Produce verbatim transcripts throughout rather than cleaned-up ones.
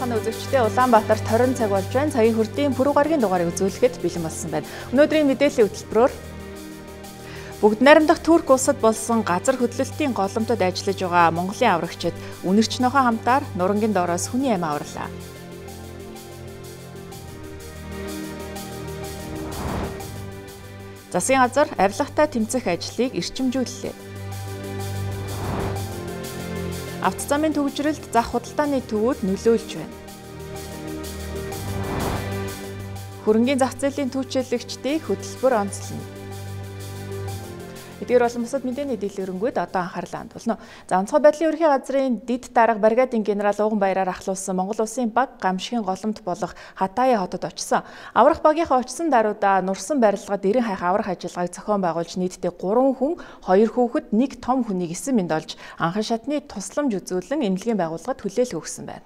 сонирхолтой үзэгчдээ Улаанбаатарт хорин цаг болж байна. Цагийн хүрдийн пүрэв гарагийн дугаарыг үзүүлэхэд бэлэн болсон байна. Өнөөдрийн мэдээллийн хөтөлбөрөөр бүгд найрамдах Турк улсад болсон газар хөдлөлтийн голомтод ажиллаж байгаа Монголын аврагчид үнэрч нохой хамтаар нурангийн доороос хүний амь аварлаа. Засгийн газар авилгатай тэмцэх ажлыг эрчимжүүллээ. Авто замын төвжрэлд зах худалдааны төвүүд нөлөөлж байна. Хөрөнгийн зах зээлийн түүчилэгчдийг хөтөлбөр онцлно. Эдгээр болон бусад мэдээний дэлгэрэнгүй одоо анхаарлаа хандуулна. За онцгой байдлын ерөнхий газрын дэд дарга бригадын генерал Уган Баяраар ахлуулсан Монгол Улсын баг гамшигын голомт болох Хатая хотод очсон. Аврах багийнхаа очсон даруйда нурсан барилгад эрен хайх аврах ажиллагааг зохион байгуулж нийтдээ гурван хүн, хоёр хүүхэд, нэг том хүнийг эсэн мэнд олж анхан шатны тусламж үзүүлэн эмнэлгийн байгууллагад хүлээлт өгсөн байна.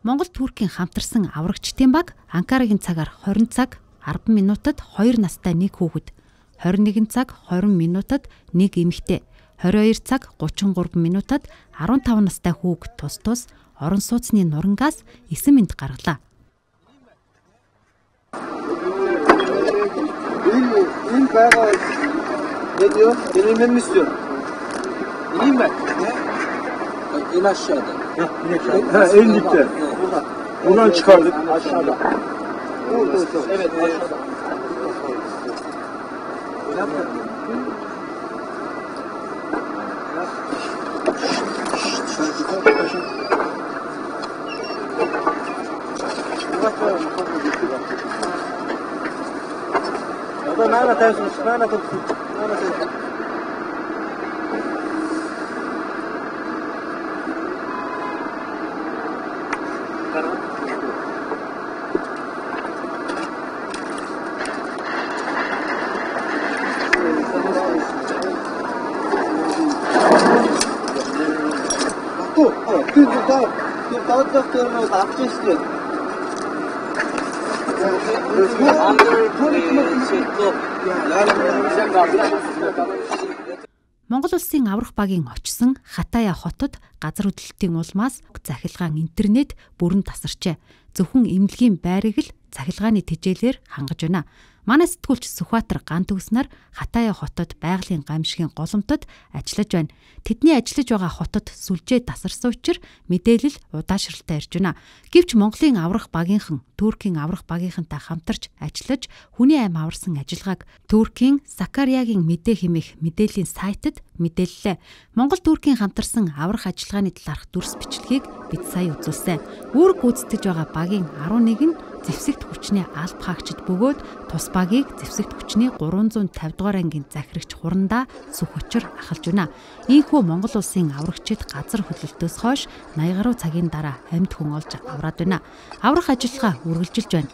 Монгол Туркийн хамтарсан аврагчдын баг Анкарагийн цагаар хорин цаг арван минутад хоёр настай нэг хүүхэд, хорин нэгэн цаг хорин минутад нэг эмэгтэй, хорин хоёр цаг гучин гурван минутад арван таван настай хүүхэд тус тус орон сууцны нурангаас эсэн мэнд гаргалаа. Энэ байгаа видео инэмэмэстэй. Ийм байна. Энэ ашаада. Энэ дитэ. Унаан çıkardık aşağıda. Evet, evet. Orada nane atarsınız, nane atarsınız, nane atarsınız. Dağıt doktorunu da yapmıştı. Монгол улсын аврах багийн очсон Хатая хотод газар хөдлөлтийн улмаас захилгаан интернет бүрэн тасарчээ. Зөвхөн эмнэлгийн байрыг л захилгааны тэжээлээр хангаж байна. Манай сэтгүүлч Сүхбаатар Ган төгснөр Хатая хотод байгалийн гамшигын голомтод ажиллаж байна. Тэдний ажиллаж байгаа хотод сүлжээ тасарсан учраас мэдээлэл удаашралтай ирж байна. Гэвч Монголын аврах багийнхан Туркийн аврах багийнхантай хамтарч ажиллаж хүний амь аварсан ажиллагааг Туркийн Сакариягийн мэдээ хэмээх мэдээллийн сайтад мэдээллээ. Монгол Туркийн хамтарсан аврах ажиллагааны талаарх дүрс бичлэгийг бид сая үзүүлсэн. Үүрэг гүйцэтгэж байгаа багийн арван нэг нь зэвсэгт хүчний алба хаагчид бөгөөд тус багийг зэвсэгт хүчний гурван зуун тавь дугаар ангийн захирагч хурандаа сүх учир ахалж байна. Ийхүү Монгол улсын аврагчид газар хөдлөлтөөс хойш наяз гаруй цагийн дараа амьд хүн олж авраад байна. Аврах ажиллагаа үргэлжилж байна.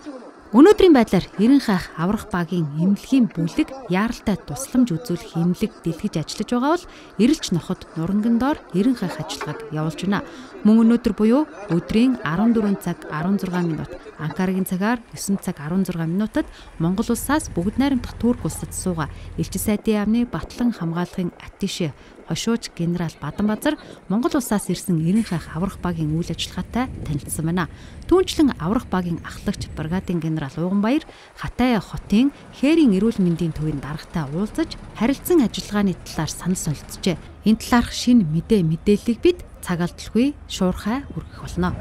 Өнөөдрийн байдлаар эрен хайх аврах багийн эмнэлгийн бүлэг яаралтай тусламж үзүүлэх эмнэлэг дэлгэж ажиллаж байгаа бол эрэлж ноход нуранган доор эрен хайх ажиллагааг явуулж байна. Мөн өнөөдөр буюу өдрийн арван дөрвөн цаг арван зургаан минут, Анкарагийн цагаар девять цаг арван зургаан минутад Монгол улсаас бүгд найрамдах Турк улсад суугаа элчин сайдын яамны Батлан хамгаалахын аттишэ хошууч генерал Баданбазар Монгол улсаас ирсэн эрен хайх аврах багийн үйл ажиллагаатай танилцсан байна. Түүнчлэн аврах багийн ахлагч бригадын генерал Уган Баяр Хатая хотын хээрийн эрүүл мэндийн төвийн даргатай уулзаж харилцан ажиллагааны талаар санал солилцжээ. Энэ талаарх шинэ мэдээ мэдээллийг бид цаг алдалгүй шуурхай хүргэх болно.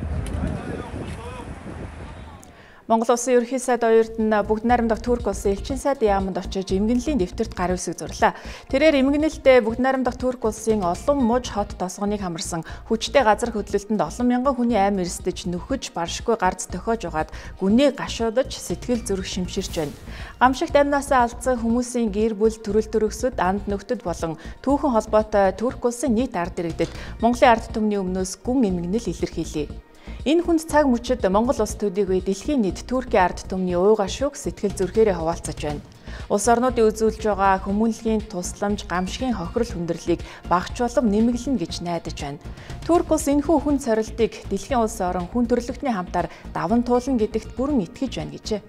Монгол улсын ерөнхий сайд оюутан бүгд найрамдах Турк улсын элчин сайдын яамд очиж эмгэнлийн дэвтэрт гар үсэг зурлаа. Тэрээр эмгэнэлтэд бүгд найрамдах Турк улсын олон муж хот тосгоныг хамарсан хүчтэй газар хөдлөлтөнд олон мянган хүний амь эрсдэж нөхөж баршгүй гарц тохиож угаад гүнээ гашуудаж сэтгэл зүрх шимширч байна. Гамшигт амнаасаа алдсан хүмүүсийн гэр бүл төрөл төрөсөд анд нөхдөд болон түүхэн холбоотой Турк улсын нийт ард иргэдэд Монголын ард түмний өмнөөс гүн эмгэнэл илэрхийлье. Энэ хүнд цаг мөчид Монгол улс төдийгүй дэлхийн нийт Туркийн ард түмний ууга шүүг сэтгэл зүрхээрээ хуваалцаж байна. Улс орнуудын үзүүлж байгаа хүмүүнлэгийн тусламж, гамшигын хохирол хүндрэлийг багч болон нэмэглэнэ гэж найдаж байна. Турк улс энэхүү хүн цорилтыг дэлхийн улс орон хүн төрөлхтний хамтаар даван туулна гэдэгт бүрэн итгэж байна гэжээ.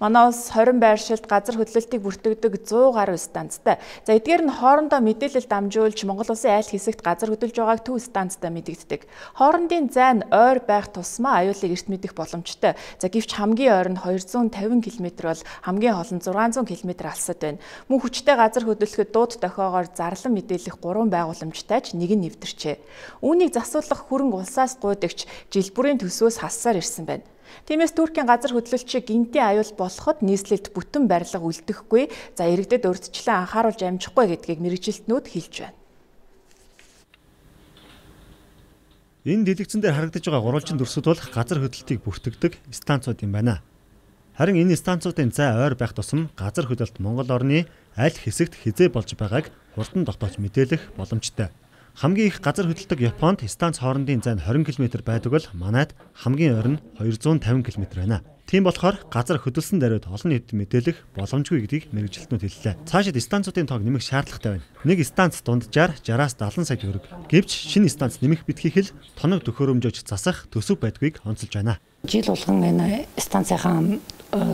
Манай улс хорин байршилд газар хөдлөлтийг бүртгэдэг зуун гаруй станцтай. За эдгээр нь хоорондоо мэдээлэл дамжуулж Монгол улсын айл хэсэгт газар хөдлөж байгааг төв станцтай мэдэгддэг. Хоорондын зайн ойр байх тусмаа аюулыг эрт мэдэх боломжтой. За гэвч хамгийн ойр нь хоёр зуун тавин километр бол хамгийн хол нь зургаан зуун километр алсад байна. Мөн хүчтэй газар хөдлөхөд дууд дохиогоор зарлан мэдээлэх гурван байгууламжтайч нэг нь нэвтэрчээ. Үүнийг засуулах хөрөнгө улсаас гуйдагч жил бүрийн төсвөөс хассаар ирсэн байна. Тиймээс Туркийн газар хөдлөлтчийг гинтийн аюул болоход нийслэлд бүтэн барилга үлдэхгүй, за иргэдэд урьдчилан анхааруулж амжихгүй гэдгийг мэргэжилтнүүд хэлж байна. Энэ дэлгэцэн дээр харагдаж байгаа гурвалжин дүрсүүд бол газар хөдлөлтийг бүртгэдэг станцууд юм байна. Харин энэ станцуудын зай ойр байх тусам газар хөдлөлт Монгол орны аль хэсэгт хизээ болж байгааг хурдан тогтоож мэдээлэх боломжтой. Хамгийн их газар хөдлөлтөг Японд станц хоорондын зай хорин километр байдаг бол манайд хамгийн ойр нь хоёр зуун тавин километр байна. Тийм болохоор газар хөдлсөн даруйд олон нийтэд мэдээлэх боломжгүй гэдгийг мэргэжилтнүүд хэллээ. Цаашид станцуудын тоог нэмэх шаардлагатай байна. Нэг станц дунджаар шестьдесят-аас сая төгрөг. Гэвч шинэ станц нэмэх битгийх л тоног төхөөрөмжөж засах төсөв байдгийг онцолж байна. Жил болгон энэ станцынхаа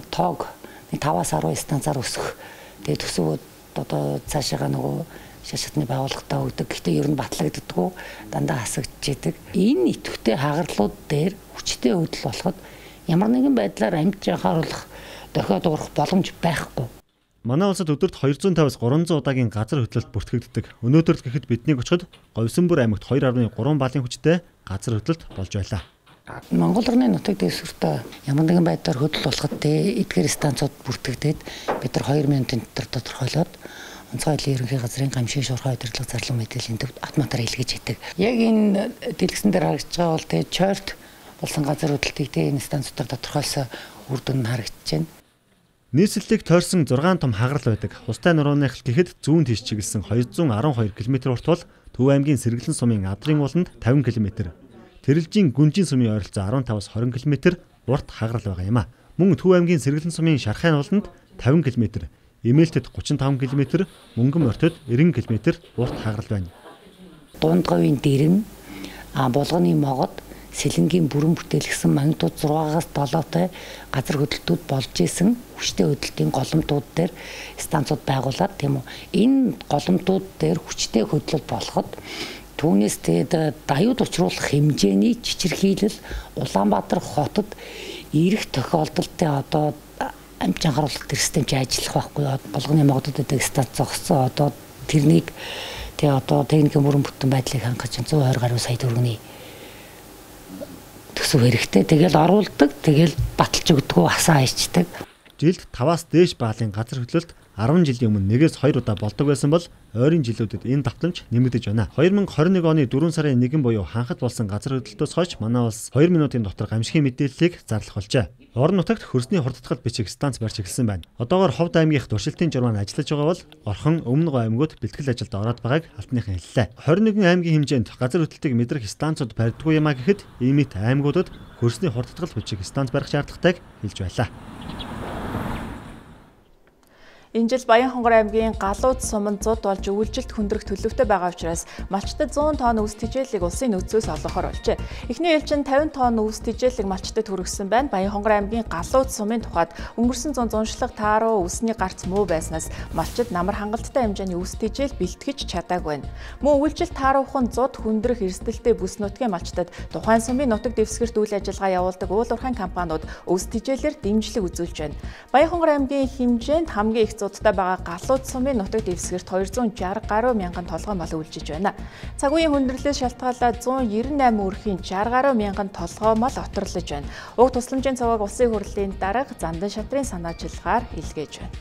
тоог таваас арван станцаар өсөх. Тэгээд төсөвөд одоо цаашаага нөгөө шашатны байгууллагатаа өгдөг. Гэхдээ ер нь батлагддаггүй, дандаа хасагдж идэг. Энэ идэвхтэй хагарлууд дээр хүчтэй хөдөл болоход ямар нэгэн байдлаар амьд анхааруулах, дохиод уурах боломж байхгүй. Манай улсад өдөрт хоёр зуун тавиас гурван зуун удаагийн газар хөдлөлт бүртгэгддэг. Өнөөдөр л гэхэд биднийг очиход Говьсөнбөр аймагт хоёр арван гурван баалын хүчтэй газар хөдлөлт болж байлаа. Монгол орны нутаг дэвсгэртээ ямар нэгэн байдлаар хөдөл болоход эдгээр станцууд бүртгэгдээд бид нар хоёр минутын дотор тодорхойлоод онцгой айлын ерөнхий газрын гамшин шуурхай удирдлага зарлан мэдээллийн төвд автоматар илгээж идэг. Яг энэ дэлгэцэн дээр харагдаж байгаа бол тэгээ чойрт болсон газар хөдлөлтийг тэгээ энэ станцуудаар тодорхойлсон үр дүн нь харагдаж байна. Нийслэлийг тойрсон зургаан том хагарал байдаг. Устай нурууных гэхэд зүүн тийш чиглэсэн хоёр зуун арван хоёр километр урт бол Төв аймгийн Сэргэлэн сумын Адрын ууланд тавин километр, Тэрэлжийн Гүнжин сумын ойролцоо арван тавиас хорин километр урт хагарал байгаа юм а. Мөн Төв аймгийн Сэргэлэн сумын Шархайн ууланд тавин километр, Эмээлтэд гучин таван километр, Мөнгөн морьтод нэрэн километр урт хагарал байна. Дундговын дэрэн, а булганы могод, сэлэнгийн бүрэн бүтээлгсэн магнитууд зургаагаас долоотой газар хөдлөлтүүд болж исэн хүчтэй хөдлөлтийн голомтууд дээр станцууд байгуулад тийм үү. Энэ голомтууд дээр хүчтэй хөдлөл болоход түүнээс тэгээд даюуд учруулах хэмжээний чичирхийлэл Улаанбаатар хотод ирэх тохиолдолтой одоо амт анхааруулах системч ажиллах байхгүй. Болгоны могодод байдаг станц зогссон одоо тэрнийг тэгээ одоо техникийн бүрэн бүтэн байдлыг хангаж зуун двадцать гаруй сая төгрөгийн төсөв хэрэгтэй. Тэгэл оруулдаг, тэгэл баталж өгдөг, хасаа хайчдаг. Жилд таваас дээш баалын газар хөдлөлт арван жилийн өмнө нэгээс хоёр удаа болдог байсан бол ойрын жилүүдэд энэ давтамж нэмэгдэж байна. хоёр мянга хорин нэг оны дөрвөн сарын нэгэн буюу ханхад болсон газар хөдлөлтөөс хойш манай улс хоёр минутын дотор гамшигын мэдээллийг зарлах болжээ. Орон нутагт хөрсний хурдтгал бичих станц барьж эхэлсэн байна. Одоогоор Ховд аймгийнх туршилтын журмаар ажиллаж байгаа бол Орхон, Өмнө Говь аймагуд бэлтгэл ажилд ороод байгааг алтныхан хэллээ. двадцать один аймгийн хэмжээнд газар хөдлөлтийг мэдрэх станцууд барьдаггүй юмаа гэхэд иймит аймагуудад хөрсний хурдтгал бичих станц барих шаардлагатайг хэлж байлаа. Энэ жил Баянхонгор аймгийн Галууд суманд зуд болж өвөлжилт хүндрэх төлөвтэй байгаа учраас малчтад зуун тонн үс тэжээлийг улсын нөөцөөс олгохоор болжээ. Эхний ээлжин тавин тонн үс тэжээлийг малчтад хүргэсэн байна. Баянхонгор аймгийн Галууд сумын тухайд өнгөрсөн зун зуншлаг тааруу үсний гарц муу байснаас малчид намар хангалттай хэмжээний үс тэжээл бэлтгэж чадаагүй байна. Мөн өвөлжилт тааруухан зуд хүндрэх эрсдэлтэй бүс нутгийн малчтад тухайн сумын нутаг дэвсгэрт үйл ажиллагаа явуулдаг уул уурхайн компаниуд үс тэжээлээр дэмжлэг үзүүлж байна. Баянхонгор аймгийн хэмжээнд хамгийн их зудтай байгаа Галууд сумын нутаг дэвсгэрт хоёр зуун шарх гаруй мянган толгой мал үйлчилж байна. Цаг үеийн хүндрэлээс шалтгаалаад зуун девяносто восемь өрхийн шарх гаруй мянган толгой мал оторлож байна. Уг тусламжийн цавыг улсын хурлын дарга Зандан шатрын санаачилгаар илгээж байна.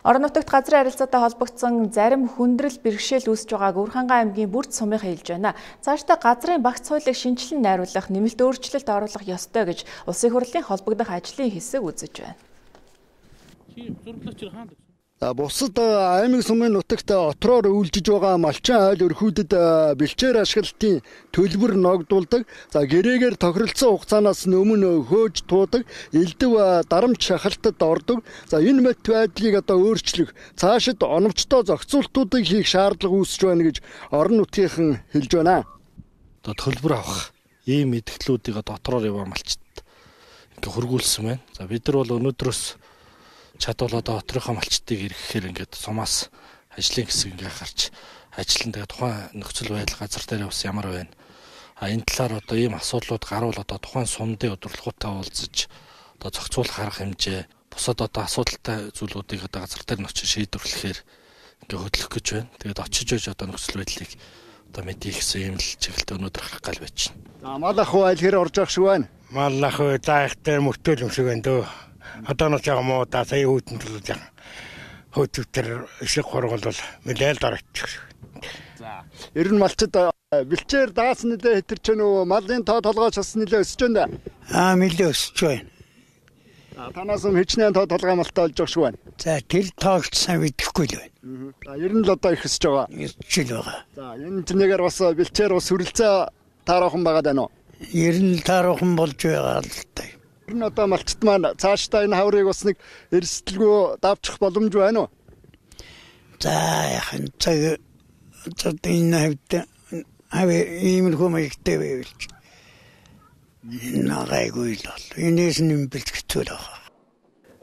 Орон нутагт газрын харилцаатай холбогдсон зарим хүндрэл бэрхшээл үүсэж байгааг Өвөрхангай аймгийн Бүрд сумынхаа хэлж байна. Цаашдаа газрын багц хуулийг шинжилэн найруулах, нэмэлт өөрчлөлт оруулах ёстой гэж улсын хурлын холбогдох ажлын хэсэг үзэж байна. Бусад аймаг сумын нутагт отроор үйлжиж байгаа малчин айл өрхүүдэд бэлчээр ашиглалтын төлбөр ногдуулдаг. За гэрээгээр тохиролцсон хугацаанаас өмнө хөөж туудаг, элдв дарамт шахалтад ордог. За энэ мэт байдлыг одоо өөрчлөх, цаашид оновчтой зохицуултуудыг хийх шаардлага үүсэж байна гэж орон нутгийнхан хэлж байна. Одоо төлбөр авах ийм мэдгэлүүдийг дотроор яваа малчд ингээ хөргүүлсэн байна. За бид нар бол өнөөдрөөс чадвал одоо отрынхаа малчтыг эргэхээр ингээд сумаас ажлын хэсэг ингээ гарч ажиллан тэгээ тухайн нөхцөл байдал газар дээр бас ямар байна. А энэ талаар одоо ийм асуудлууд гарвал одоо тухайн сумдын удирдлагуудтай уулзаж одоо зохицуулах арга хэмжээ, бусад одоо асуудалтай зүйлүүдийг одоо газар дээр нь очиж шийдвэрлэхээр ингээ хөдлөх гэж байна. Тэгээд очиж ойж одоо нөхцөл байдлыг одоо мэдээ гэсэн юм л чиглэлд өнөөдөр гарах гал байж байна. За мал ах уу аль хэр орж явах шиг байна? Мал ах уу заахтай мөртөл юм шиг байна дөө. Одоо нэг жаа муу да сая хүйтэнд л жаа. Хөөтөвтөр ишиг хургал бол мэдээлэл дараачих. За ер нь малчид бэлчээр даасан нэлээ хэтэрч байна уу? Малын тоо толгойч бас нэлээ өсөж байна. Аа нэлээ өсөж байна. А танаас юм хичнээн тоо толгой малтай болж байгаа шүү байна. За тэр тоогч сайн мэдэхгүй л байна. За ер нь л одоо их өсөж байгаа. Өсөж л байгаа. За энэ тэнэгээр бас бэлчээр бас хүрэлцээ таарахын байгаа даа нөө. Ер нь таарахын болж байгаа л та. Ер нь одоо малчит маань цаашдаа энэ хаврыг бас нэг эрсдэлгүй давчих боломж байна уу? За яхан цаг одоо энэ хавьд аве иймэрхүү маягтай байвал нагайгүй л бол энэс нь бэлтгэл байгаа.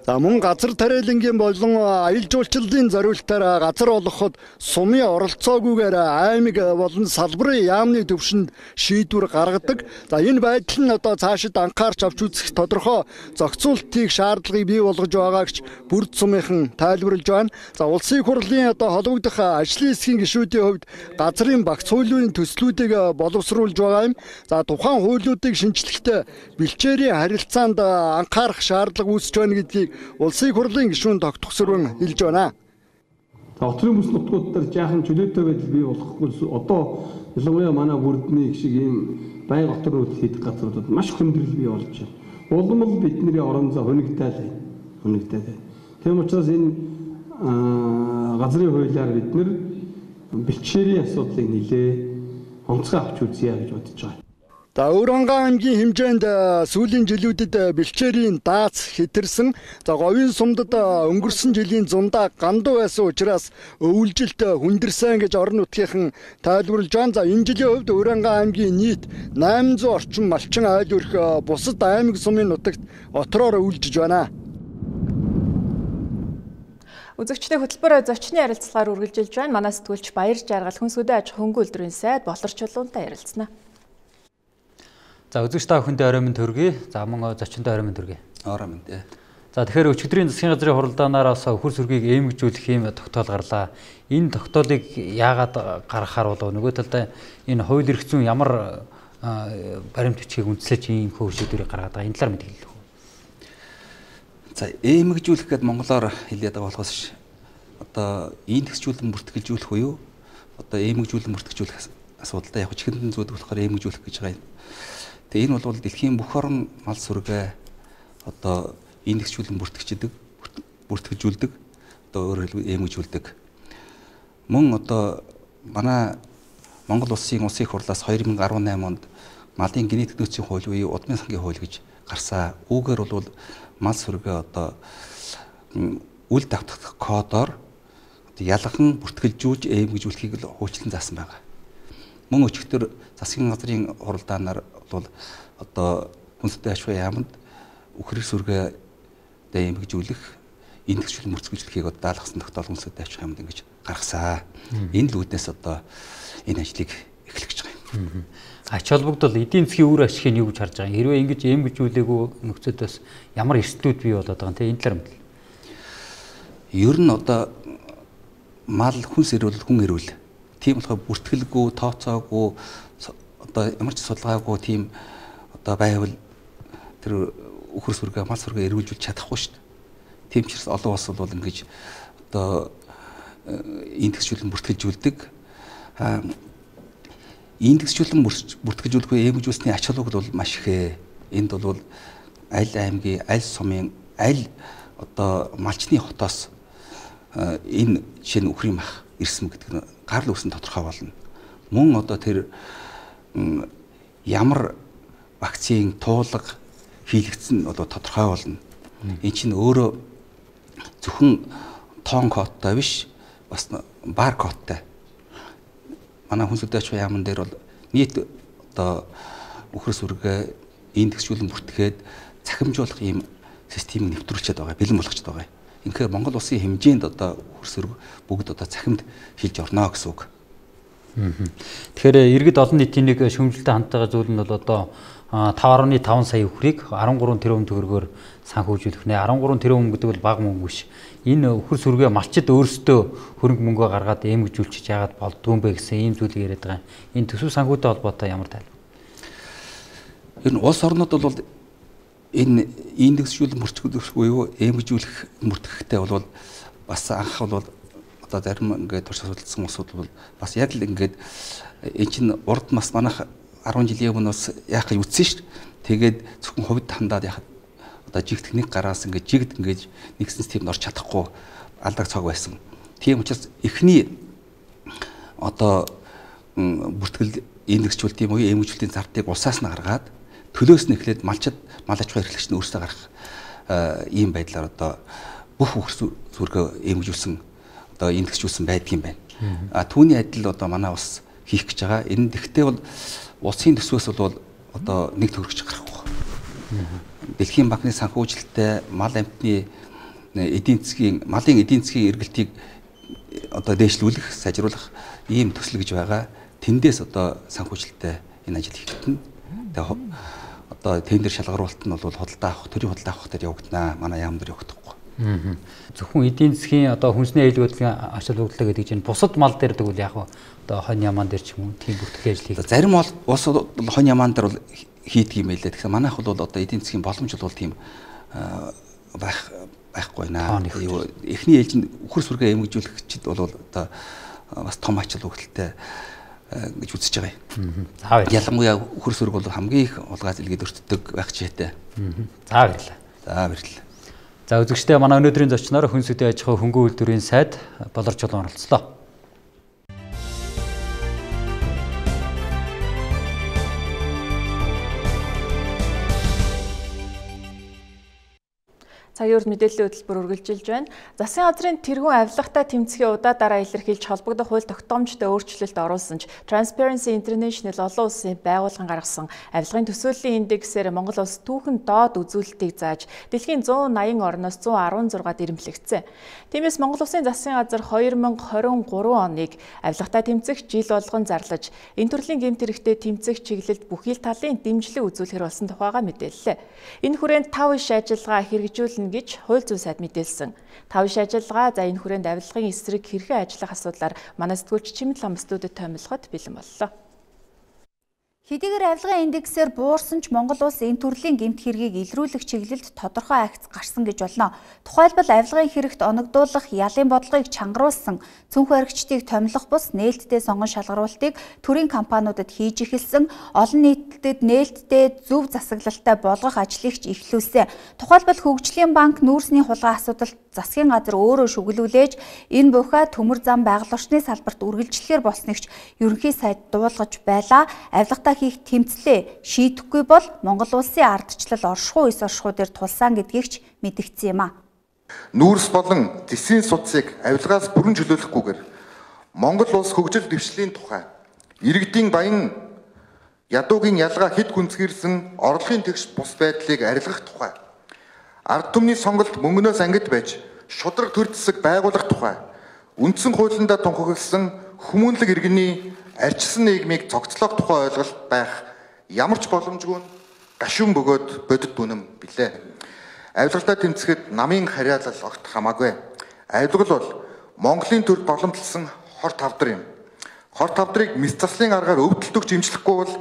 За мөн газар тариалангийн болон аялал жуулчлалын зориултаар газар олгоход сумын оролцоогүйгээр аймаг болон салбарын яамны төвшөнд шийдвэр гаргадаг. За энэ байдал нь одоо цаашид анхаарч авч үзэх тодорхой зохицуултыг шаардлагыг бий болгож байгаагч бүрд сумынхан тайлбарлаж байна. За улсын хурлын одоо холбогдох ажлын хэсгийн гишүүдийн хувьд газрын багц хуулийн төслүүдийг боловсруулж байгаа юм. За тухайн хуулиудыг шинжлэхдээ бэлчээрийн харилцаанд анхаарах шаардлага үүсэж байна гэдгийг улсын хурлын гишүүн тогтгосрон хэлж байна. Отрын бүс нутгууд дээр жаахан чөлөөтэй байдал бий болохгүй одоо ялангуяа манай бүрдний шиг ийм байнга отор нутаг хийдэг газруудад маш хөндрөл бий болж байна. Улам л бидний орон зай хөнөгтэй л байна. Хөнөгтэй байна. Тийм учраас энэ газрын хуулиар бид нэр бэлчээрийн асуудлыг нэлээ онцгой авч үзье гэж бодож байгаа. За Өвөранган аймгийн хэмжээнд сүүлийн жилүүдэд бэлчээрийн даац хэтэрсэн. За говийн сумдад өнгөрсөн жилийн зундаа ганду байсан учраас өвөлжилт хүндэрсэн гэж орон нутгийнхан тайлбарлаж байна. За энэ жилийн хувьд Өвөранган аймгийн нийт найман зуун орчим малчин айл өрх бусад аймаг сумын нутагт отроор өвөлжиж байна. Үзэгчдийн хөтөлбөр зочны ярилцлагаар үргэлжилж байна. Манай сэтгүүлч Баяр Жаргал хүнсгүүдээ аж хөнгө үйлдвэрийн сайд Болор Чулуунтай ярилцсана. За үзэгч та бүхэндээ орой минь төргий. За мөн зочиндоо орой минь төргий. Орой минь дээ. За тэгэхээр өчигдрийн засгийн газрын хуралдаанаар бас хөр сүргийг эмгэгжүүлэх юм тогтоол гарлаа. Энэ тогтоолыг яагаад гаргахаар болов? Нөгөө талдаа энэ хууль эрх зүйн ямар баримт бичгийг үндэслэж ийм хөө шийдвэрийг гаргаад байгаа. Энэ талаар мэдээлэл өгөх. За эмгэгжүүлэх гэдэг монголоор хэлээд байгаа болохоос одоо индексжүүлэн бүртгэлжүүлэх буюу одоо эмгэгжүүлэн бүртгэлжүүлэх асуудалтай яг чихэндэн зүйд болохоор эмгэгжүүлэх гэж байгаа юм. Тэгээ энэ бол дэлхийн бүх орн мал сүргээ одоо индексжүүлэн бүртгэждэг, бүртгэжүүлдэг, одоо өөрөөр хэлбэл эмгэгжүүлдэг. Мөн одоо манай Монгол улсын улсын хурлаас хоёр мың арван наймын онд малын генетик нөөцийн хууль буюу удмын сангийн хууль гэж гарсан. Үүгээр бол мал сүргээ одоо үл давтах кодоор ялган бүртгэлжүүлж эмгэгжүүлэхийг л хуучлан заасан байна. Мөн өчигдөр засгийн газрын хуралдаанаар бол одоо хүнстэй аж ахуйн яамд үхрэг сүргээ эмгэгжүүлэх индексжүүлэн бүртгэлжүүлэхийг одоо даалгасан тогтоол хүнстэй аж ахуйн яамд ингэж гаргасан. Энэ л үүднээс одоо энэ ажлыг эхлэх гэж байгаа юм. Ач холбогдол эдийн засгийн үр ашигыг юу гэж харж байгаа юм? Хэрвээ ингэж эмгэгжүүлээгүй нөхцөлөөс ямар эрсдлүүд бий болоод байгаа юм те энэ талаар мэдээ. Ер нь одоо мал хүнс эрүүл хүн эрүүл тийм болохоор бүртгэлгүй, тооцоогүй одоо ямар ч судалгаагүй тийм одоо байвал тэр үхэр сүргээ, мал сүргээ эргүүлж чадахгүй шүү дээ. Тийм ч гэсэн олон улс бол ингэж одоо индексжүүлэн бүртгэлжүүлдэг. Аа индексжүүлэн бүртгэлжүүлэх үе эмгэгжүүлсний ач холбогдол бол маш их. Энд бол аль аймгийн, аль сумын, аль одоо малчны хотоос энэ жишээ нь үхрийн мах ирсэн гэдэг нь гарал үүсэн тодорхой болно. Мөн одоо тэр ямар вакцины туулга хийлэгдсэн нь одоо тодорхой болно. Энэ чинь өөрөө зөвхөн тоон кодтай биш, бас бар кодтай. Манай хүнсэлтэй аж ахуйн яамн дээр бол нийт одоо үхэр сүргээ индексжүүлэн бүртгээд цахимжуулах ийм системийг нэвтрүүлчихэд байгаа, бэлэн болгочод байгаа. Инхээр Монгол улсын хэмжээнд одоо хөрс өрг бүгд одоо цахимд шилж орно гэсэн үг. Тэгэхээр иргэд олон нийтийн нэг шүүмжлэлтэй хандлагын зүйл нь бол одоо five point five сая өхрийг thirteen тэрбум төгрөгөөр санхүүжүүлэх нэ thirteen тэрбум гэдэг бол бага мөнгө биш. Энэ өхөр сүргээ малчид өөрсдөө хөрөнгө мөнгөө гаргаад эмгжүүлчих яагаад болдгүй юм бэ гэсэн ийм зүйлийг яриад байгаа. Энэ төсөв санхүүтэй холбоотой ямар тайлбар? Энэ улс орнууд бол энэ индексжүүлэх мөрчгөх буюу эмгжүүлэх мөртгөхтэй бол бас анх бол одоо зарим ингээд турш судалсан усуд бол бас яг л ингээд энэ чинь урд нас манайх ten жилийн өмнө бас яах гэж үтсэн шүү дээ. Тэгээд зөвхөн хувьд хандаад яхад одоо жигт нэг гараас ингээд жигт ингээд нэгсэн системд орч чадахгүй алдаг цаг байсан. Тийм учраас эхний одоо бүртгэл индексжүүлэлт юм уу эмгжүүлэлтийн зардыг улсаас нь гаргаад төлөөс нь эхлээд малчид мал аж ахуйн эрхлэгч нь өөрсдөө гарах ийм байдлаар одоо бүх хөрс сүргээ эмгжүүлсэн одоо индексжүүлсэн байдаг юм байна. А түүний адил одоо манай ус хийх гэж байгаа. Энэ тэгтээ бол улсын төсвөөс бол одоо нэг төгрөгч гарахгүй. Дэлхийн банкны санхүүжилттэй мал амтны эдийн засгийн малын эдийн засгийн эргэлтийг одоо дээшлүүлэх, сайжруулах ийм төсөл гэж байгаа. Тэндээс одоо санхүүжилттэй энэ ажил хийгдэнэ. Тэгээ одоо тендер шалгаруулалт нь бол худалдаа авах, төрийн худалдаа авах дээр явагдана. Манай яам дээр явагдахгүй. Зөвхөн эдийн засгийн одоо хүнсний аюул бодлогын ачаал бүгдлээ гэдэг чинь бусад мал дээр тэгвэл яг одоо хонь ямаан дээр ч юм уу тийм бүртгэх ажил хийх. Зарим бол ус хонь ямаан дээр бол хийдэг юм байлээ. Тэгэхээр манайх бол одоо эдийн засгийн боломж бол тийм байх байхгүй наа. Эхний ээлжинд үхэр сүргээ эмгжүүлэгчид бол одоо бас том ачаал бүгдэлтэй гэж үзэж байгаа юм. За баярлалаа. Ялангуяа үхэр сүрэг бол хамгийн их улгаас илгээд өртдөг байх жишээтэй. За баярлалаа. За баярлалаа. За үзэгчдээ манай өнөөдрийн зочноор хүн сүдийн аж ахуй хөнгөн үйлдвэрийн сайд Болор Чулуун оролцлоо. Цагийн урд мэдээллийн хөтөлбөр үргэлжилж байна. Засгийн газрын тэргуун авилгатай тэмцэхийн удаа дараа илэрхийлж холбогдох хууль тогтоомжтой өөрчлөлт оруулсан ч Transparency International олон улсын байгууллагын гаргасан авилгын төсөөллийн индексээр Монгол улс түүхэн доод үзүүлэлтийг зааж дэлхийн one eighty орноос one sixteen-д ирэмблэгдсэн. Тиймээс Монгол улсын засгийн газар twenty twenty-three оныг авилгатай тэмцэх жил болгон зарлаж энэ төрлийн гэмт хэрэгтээ тэмцэх чиглэлд бүхий л талын дэмжлэг үзүүлэхэр болсон тухайга мэдээллээ. Энэ хүрээнд five иш ажиллагаа хэрэгжүүлнэ гэж хууль зүйн сайд мэдээлсэн. five иш ажиллагаа за энэ хүрээнд авилгын эсрэг хэрхэн ажиллах асуудлаар манай сэтгүүлч Чимэл лам студид томилоход бэлэн боллоо. Хэдийгээр авилгын индексээр буурсан ч Монгол улс энэ төрлийн гэмт хэргийг илрүүлэх чиглэлд тодорхой акц гарсан гэж болно. Тухайлбал авилгын хэрэгт оногдуулах ялын бодлогыг чангаруулсан, цүнх баригчдыг томилох бус нээлттэй сонгон шалгаруулалтыг төрийн компаниудад хийж эхэлсэн, олон нийтэд нээлттэй зөв засаглалтай болгох ажлыг ч эхлүүлсэн. Тухайлбал Хөгжлийн банк нүүрсний хулгай асуудалд засгийн газар өөрөө шүглүүлээж энэ буйхаа төмөр зам байгаль орчны салбарт үргэлжлэхээр болсныг ч ерөнхий сайд дуулгаж байлаа. Авилгатай хийх тэмцлээ шийдэхгүй бол Монгол улсын ардчлал оршихуй эс оршихуй дээр тулсан гэдгийг ч мэдгдсэн юм а. Нүүрс болон зэсийн судсыг авилгаас бүрэн чөлөөлөхгүйгээр Монгол улс хөгжил дэвшлийн тухай иргэдийн баян ядуугийн ялгаа хэд гүнзгийрсэн орлогын тэгш бус байдлыг арилгах тухай ард түмний сонголт мөнгнөөс ангид байж шудраг төр засаг байгуулах тухай үндсэн хуулиндаа тунхагласан хүмүүнлэг иргэний арчсан нийгмийг цогцлох тухай ойлголт байх ямар ч боломжгүй гашуун бөгөөд бодит үнэм билээ. Авилгалтай тэмцэхэд намын харьяалал огт хамаагүй. Авилгал бол Монголын төрд боломжлсон хор тавдар юм. Хор тавдрыг мэс заслын аргаар өвдөлтөг жимжлэхгүй бол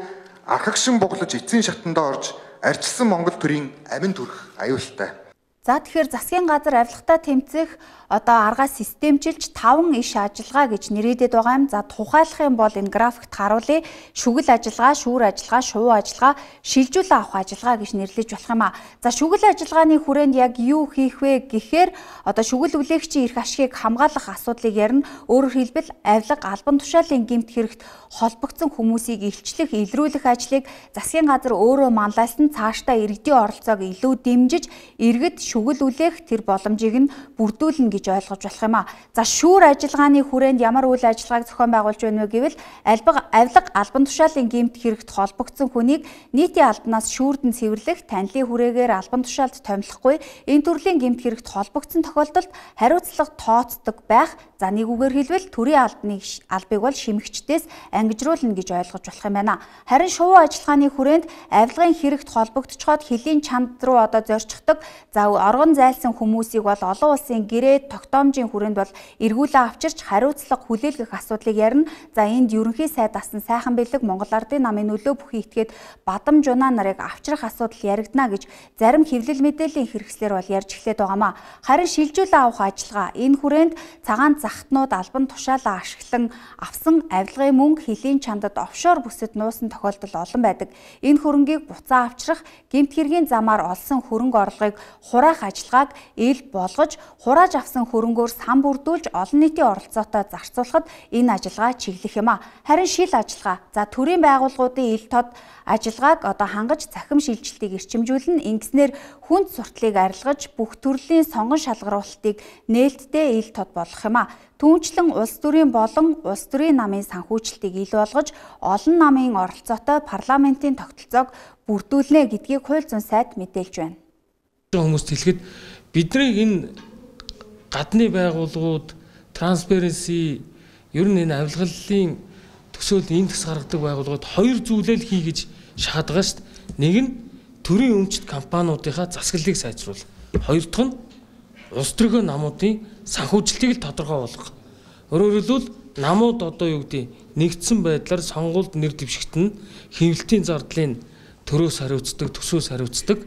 архагшин буглаж эцсийн шатандаа орж арчилсан Монгол төрийн амин төрх аюултай. За тэгэхээр засгийн газар авилгатай тэмцэх одоо аргаа системчилж таван иш ажиллагаа гэж нэрийдэд байгаа юм. За тухайлах юм бол энэ графикт харуулъя. Шүгэл ажиллагаа, шүүр ажиллагаа, шувуу ажиллагаа, шилжүүлэн авах ажиллагаа гэж нэрлэж болох юм а. За шүгэл ажиллагааны хүрээнд яг юу хийх вэ гэхээр одоо шүгэл үлээгчийн эрх ашигыг хамгаалах асуудлыг ярина. Өөрөөр хэлбэл авилга албан тушаалын гэмт хэрэгт холбогдсон хүмүүсийг илчлэх, илрүүлэх ажлыг засгийн газар өөрөө манлайлсан цаашдаа иргэдийн оролцоог илүү дэмжиж, иргэд шүгэл үлээх тэр боломжийг нь бүрдүүлнэ гэж ойлгож болох юм а. За шүүр ажиллагааны хүрээнд ямар үйл ажиллагааг зохион байгуулж байна вэ гэвэл альбаг авилга албан тушаалын гэмт хэрэгт холбогдсон хүнийг нийтийн албанаас шүүрдэн цэвэрлэх, танилын хүрээгээр албан тушаалд томилохгүй энэ төрлийн гэмт хэрэгт холбогдсон тохиолдолд хариуцлага тооцдог байх. За нэг үгээр хэлбэл төрийн албаны албыг бол шимэгчдээс ангижруулна гэж ойлгож болох юм байна. Харин шувуу ажиллагааны хүрээнд авилгын хэрэгт холбогдчиход хөлийн чанд руу одоо зорчихдог. За оргон зайлсан хүмүүсийг бол олон улсын гэрээ тогтоомжийн хүрээнд бол эргүүлээ авчирч хариуцлага хүлээлгэх асуудлыг ярина. За энд ерөнхий сайд асан сайхан бэлэг Монгол Ардын намын нөлөө бүхий итгээд бадам жунаа нарыг авчрах асуудал яригдана гэж зарим хэвлэл мэдээллийн хэрэгслэр бол ярьж эхлээд байгаамаа. Харин шилжүүлээ авах ажиллагаа энэ хүрээнд цагаан захтнууд албан тушаалаа ашиглан авсан авилгын мөнгө хөлийн чандад офшор бүсэд нуусан тохиолдол олон байдаг. Энэ хөрөнгийг буцаа авчрах, гэмт хэргийн замаар олсон хөрөнгө орлогыг хураах ажиллагааг ил болгож, хурааж авсан хөрөнгөөр сан бүрдүүлж олон нийтийн оролцоотой зарцуулахад энэ ажиллагаа чиглэх юм а. Харин шил ажиллагаа, за төрийн байгууллагуудын ил тод ажиллагааг одоо хангаж цахим шилжилтийг эрчимжүүлнэ. Ингэснээр хүнд сурталыг арилгаж бүх төрлийн сонгон шалгаруулалтыг нээлттэй ил тод болгох юм а. Түүнчлэн улс төрийн болон улс төрийн намын санхүүжилтийг ил болгож олон намын оролцоотой парламентын тогтолцоог бүрдүүлнэ гэдгийг хууль зүйн сайд мэдээлж байна. Хүмүүст хэлэхэд бидний энэ гадны байгууллагууд Transparency ер нь энэ авилгалын төсөөлд энэ төс гаргадаг байгууллагууд хоёр зүйлэл хий гэж шахаад байгаа шүү дээ. Нэг нь төрийн өмчт компаниудынхаа засаглалыг сайжруулах. Хоёр дахь нь улс төрийн намуудын санхүүжилтийг л тодорхой болгох. Өөрөөр хэлбэл намууд одоо юу гэдэг нэгдсэн байдлаар сонгуульд нэр дэвшигт нь хэвлэлтийн зардлын төрөөс хариуцдаг, төсөөс хариуцдаг.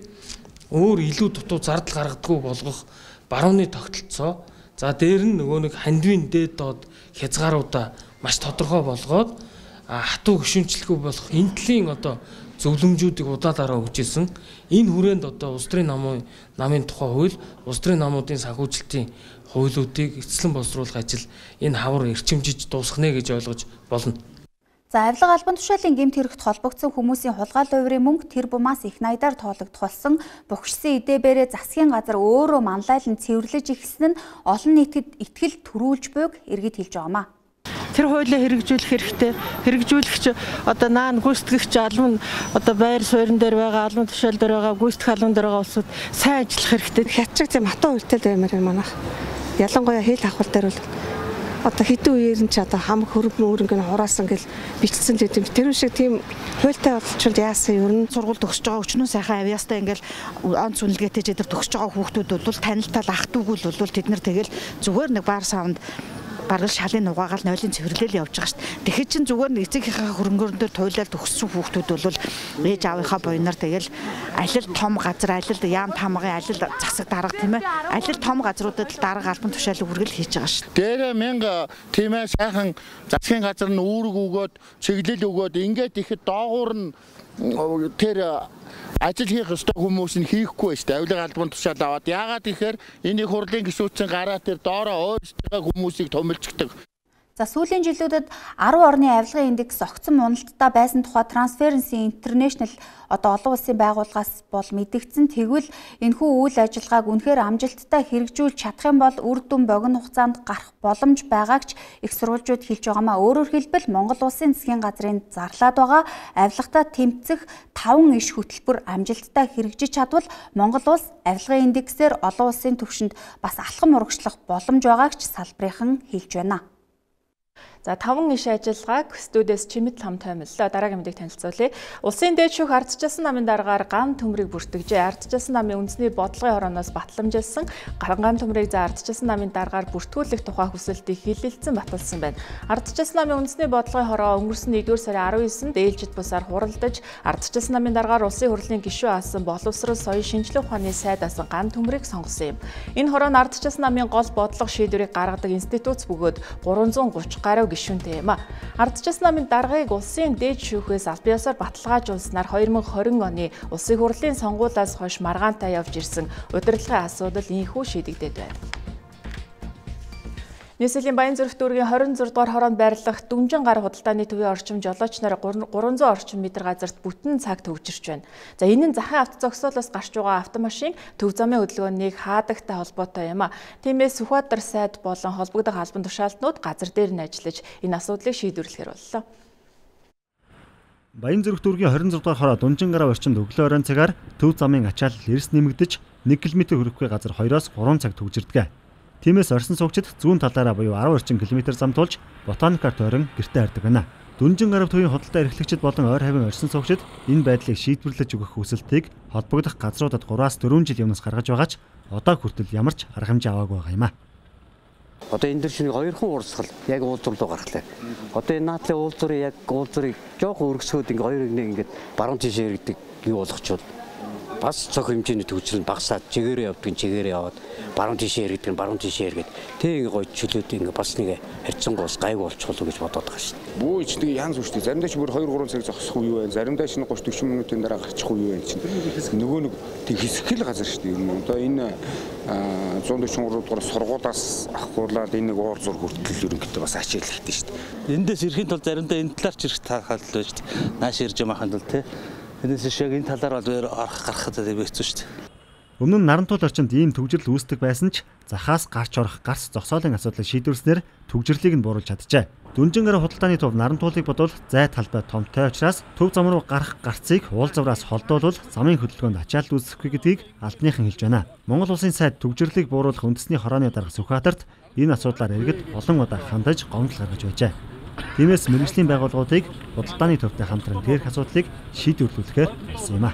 Өөр илүү дутуу зардал гаргадаггүй болгох барууны тогтолцоо. За дээр нь нөгөө нэг хандвийн дээд доод хязгааруудаа маш тодорхой болгоод хатуу гишүүнчлэхгүй болох энэ төрлийн одоо зөвлөмжүүдийг удаалаараа өгч ирсэн. Энэ хүрээнд одоо улс төрийн намын намын тухай хууль, улс төрийн намуудын санхүүжилтийн хуулиудыг эцэслэн боловсруулах ажил энэ хавар эрчимжиж дуусгах нэ гэж ойлгож болно. За авилга албан тушаалын гэмт хэрэгт холбогдсон хүмүүсийн хулгай хувирын мөнгө тэр бумаас их найдаар тоологдох болсон. Бухшсан эдээбэрээ засгийн газар өөрөө манлайлан цэвэрлэж ихсэн нь олон нийтэд итгэл төрүүлж буйг иргэд хэлж байгаамаа. Тэр хуулийг хэрэгжүүлэх хэрэгтэй. Хэрэгжүүлэгч одоо наан гүйцэтгэгч албан одоо байр суурин дээр байгаа, албан тушаал дээр байгаа, гүйцэтгэх албан дээр байгаа улсууд сайн ажиллах хэрэгтэй. Хятчиг тийм хатуу үйлдэл баймаар юм манайх. Ялангуяа хил авах дээр бол одоо хэдэн үеэр нь ч одоо хамаг хөрөнгө мөрөнгө нь хураасан гэл бичсэн л гэдэг. Тэр шиг тийм хуультай болчихвол яасан ер нь сургууль төгсөж байгаа өчнөө сайхан авьяастай ингээл онц үнэлгээтэй ч эдэр төгсөж байгаа хүүхдүүд бол танилтал ах дүүгүүл бол тэд нар тэгэл зүгээр нэг баар савнд баргал шалын угаагаал нойлын цэвэрлэл явж байгаа шүү дээ. Тэгэхээр чин зүгээр нэг эцэгийнхээ хөрөнгөөр дээр туйлал төгссөн хүүхдүүд бол ээж аавынхаа буйнаар тэгэл алил том газар, алил яам тамгын алил засаг дарга тийм ээ. Алил том газруудад л дарга албан тушаалыг хүргэл хийж байгаа шүү дээ. Дээрээ мянга тийм ээ сайхан засгийн газар нь үүрэг өгөөд, чиглэл өгөөд ингээд ихэд доогуур нь тэр ажил хийх ёстой хүмүүс нь хийхгүй шүү дээ. Авилга албан тушаал аваад яагаад гэхээр энийг хурлын гишүүдийн гараа тэр доороо ойртойгоо хүмүүсийг томилждаг. За сүүлийн жилүүдэд арван орны авилгын индекс огцон уналттай байсан тухай Transparency International одоо олон улсын байгууллагаас бол мэдэгдсэн. Тэгвэл энэхүү үйл ажиллагааг үнэхээр амжилттай хэрэгжүүлж чадах юм бол үр дүн богино хугацаанд гарах боломж байгааг ч их сурвалжууд хэлж байгаамаа. Өөрөөр хэлбэл Монгол улсын засгийн газрын зарлаад байгаа авилгатаа тэмцэх таван иш хөтөлбөр амжилттай хэрэгжиж чадвал Монгол улс авилгын индексээр олон улсын түвшинд бас алхам урагшлах боломж байгааг ч салбарынхан хэлж байна. За таван иш ажиллагааг студиэс Чимэд хам томиллоо. Дараагийн мэдээг танилцуулъя. Улсын дээд шүүх ардчилсан намын дараагаар ган төмрийг бүртгэжээ. Ардчилсан намын үндэсний бодлогын хорооноос батламжилсан ган төмрийг за ардчилсан намын дараагаар бүртгүүлэх тухай хүсэлтийг хилэлцэн баталсан байна. Ардчилсан намын үндэсний бодлогын хороо өнгөрсөн нэгдүгээр сарын арван есэнд ээлжид бусаар хуралдаж ардчилсан намын дараагаар улсын хурлын гишүүн асан боловсрол соёлын шинжилгээ ухааны сайд асан ган төмрийг сонгосон юм. Энэ хороо нь ардчилсан намын гол бодлого шийдвэрийг гаргадаг институт бөгөөд гурван зуун гурван гаруй гишүүнтэй юм а. Ардчилсан намын даргаыг улсын дээд шүүхээс албан ёсоор баталгаажуулснаар хоёр мың хорин оны улсын хурлын сонгуулиас хойш маргаантай явж ирсэн удирдлагын асуудал ийхүү шийдэгдээд байна. Нийслэлийн Баянзүрх дүүргийн хорин зураг дугаар хороонд байрлах Дүнжин гар худалдааны төвийн орчим жолооч нар гурван зуун орчим метр газарт бүтэн цаг төвжирч байна. За энэ нь захын авто зогсоолоос гарч байгаа автомашин төв замын хөдөлгөөнийг хаадагтай холбоотой юм а. Тиймээс Сүхбаатар сайд болон холбогдох албан тушаалтнууд газар дээр нь ажиллаж энэ асуудлыг шийдвэрлэхээр боллоо. Баянзүрх дүүргийн хорин зураг дугаар хороо Дүнжин гараа орчимд өглөө оройн цагаар төв замын ачаал эрс нэмэгдэж нэг километр хүрэхгүй газар хоёроос гурван цаг төвжирдэг. Тиймээс орсон суугчид зүүн талаараа буюу арван орчим километр зам тулж ботаникаар тойрон гэртээ хардаг байна. Дүнжин гарав төвийн худалдаа эрхлэгчид болон ойр хавийн орсон суугчид энэ байдлыг шийдвэрлэж өгөх хүсэлтийг холбогдох газруудад гураас дөрвөн жил өмнөөс гаргаж байгаач одоо хүртэл ямар ч арга хэмжээ аваагүй байгаа юм а. Одоо энэ дэр шинийг хоёрхан урсгал яг уулзур руу гаргалаа. Одоо энэ наадлын уулзурыг яг уулзурыг жоохон өргөсгөөд ингээ хоёр нэг ингээ баруун тишээ иргэдэг юу болгочвол бас цог хэмжээний төвчрөл багасаад чигээрээ явдаг чигээрээ яваад баруун тишээ иргэдэг баруун тишээ иргэд тэг ингээ гоё чөлөөд ингээ бас нэг харьцангуус гайг болчихвол гэж бодоод байгаа шүү дээ. Бүү ч нэг янз бүртэй заримдаа ч бүр хоёр гурван цаг зогсох үе байна. Заримдаа ч тридцать40 минутын дараа гарчих үе байна чинь. Нөгөө нэг тэг хэсэгэл газар шүү дээ. Юм одоо энэ зуун дөрвөн дугаар сургуулаас авахгуулаад энэ нэг уур зур хүртэл ерөнхийдөө бас ачааллахтай шүү дээ. Эндээс ирэхин тулд заримдаа энэ талаар ч ирэх таахал л шүү дээ. Нааш ирж ямаахан тул те. Энэс шиг энэ талаар бол орох гарахад хэвээцүү шүү дээ. Өмнө нь Нарантуул орчинд ийм төвжирэл үүсдэг байсан ч захаас гарч орох гарц зогсоолын асуудлыг шийдвэрснээр төвжирлийг нь бууруулж чаджээ. Дүнжин гараа худалдааны төв Нарантуулыг бодвол зай талбай томтой учраас төв зам руу гарах гарцыг уулзавраас холдуулвал замын хөдөлгөөнд ачаалт үүсэхгүй гэдгийг албаныхан хэлж байна. Монгол Улсын сайд төвжирлийг бууруулах үндэсний хорооны дарга Сүхбаатарт энэ асуудлаар иргэд олон удаа хандаж гомдол гаргаж байжээ. Тиймээс мэргэжлийн байгууллагуудыг худалдааны төвтэй хамтран дээрх асуудлыг шийдвэрлүүлэхээр болсон юм а.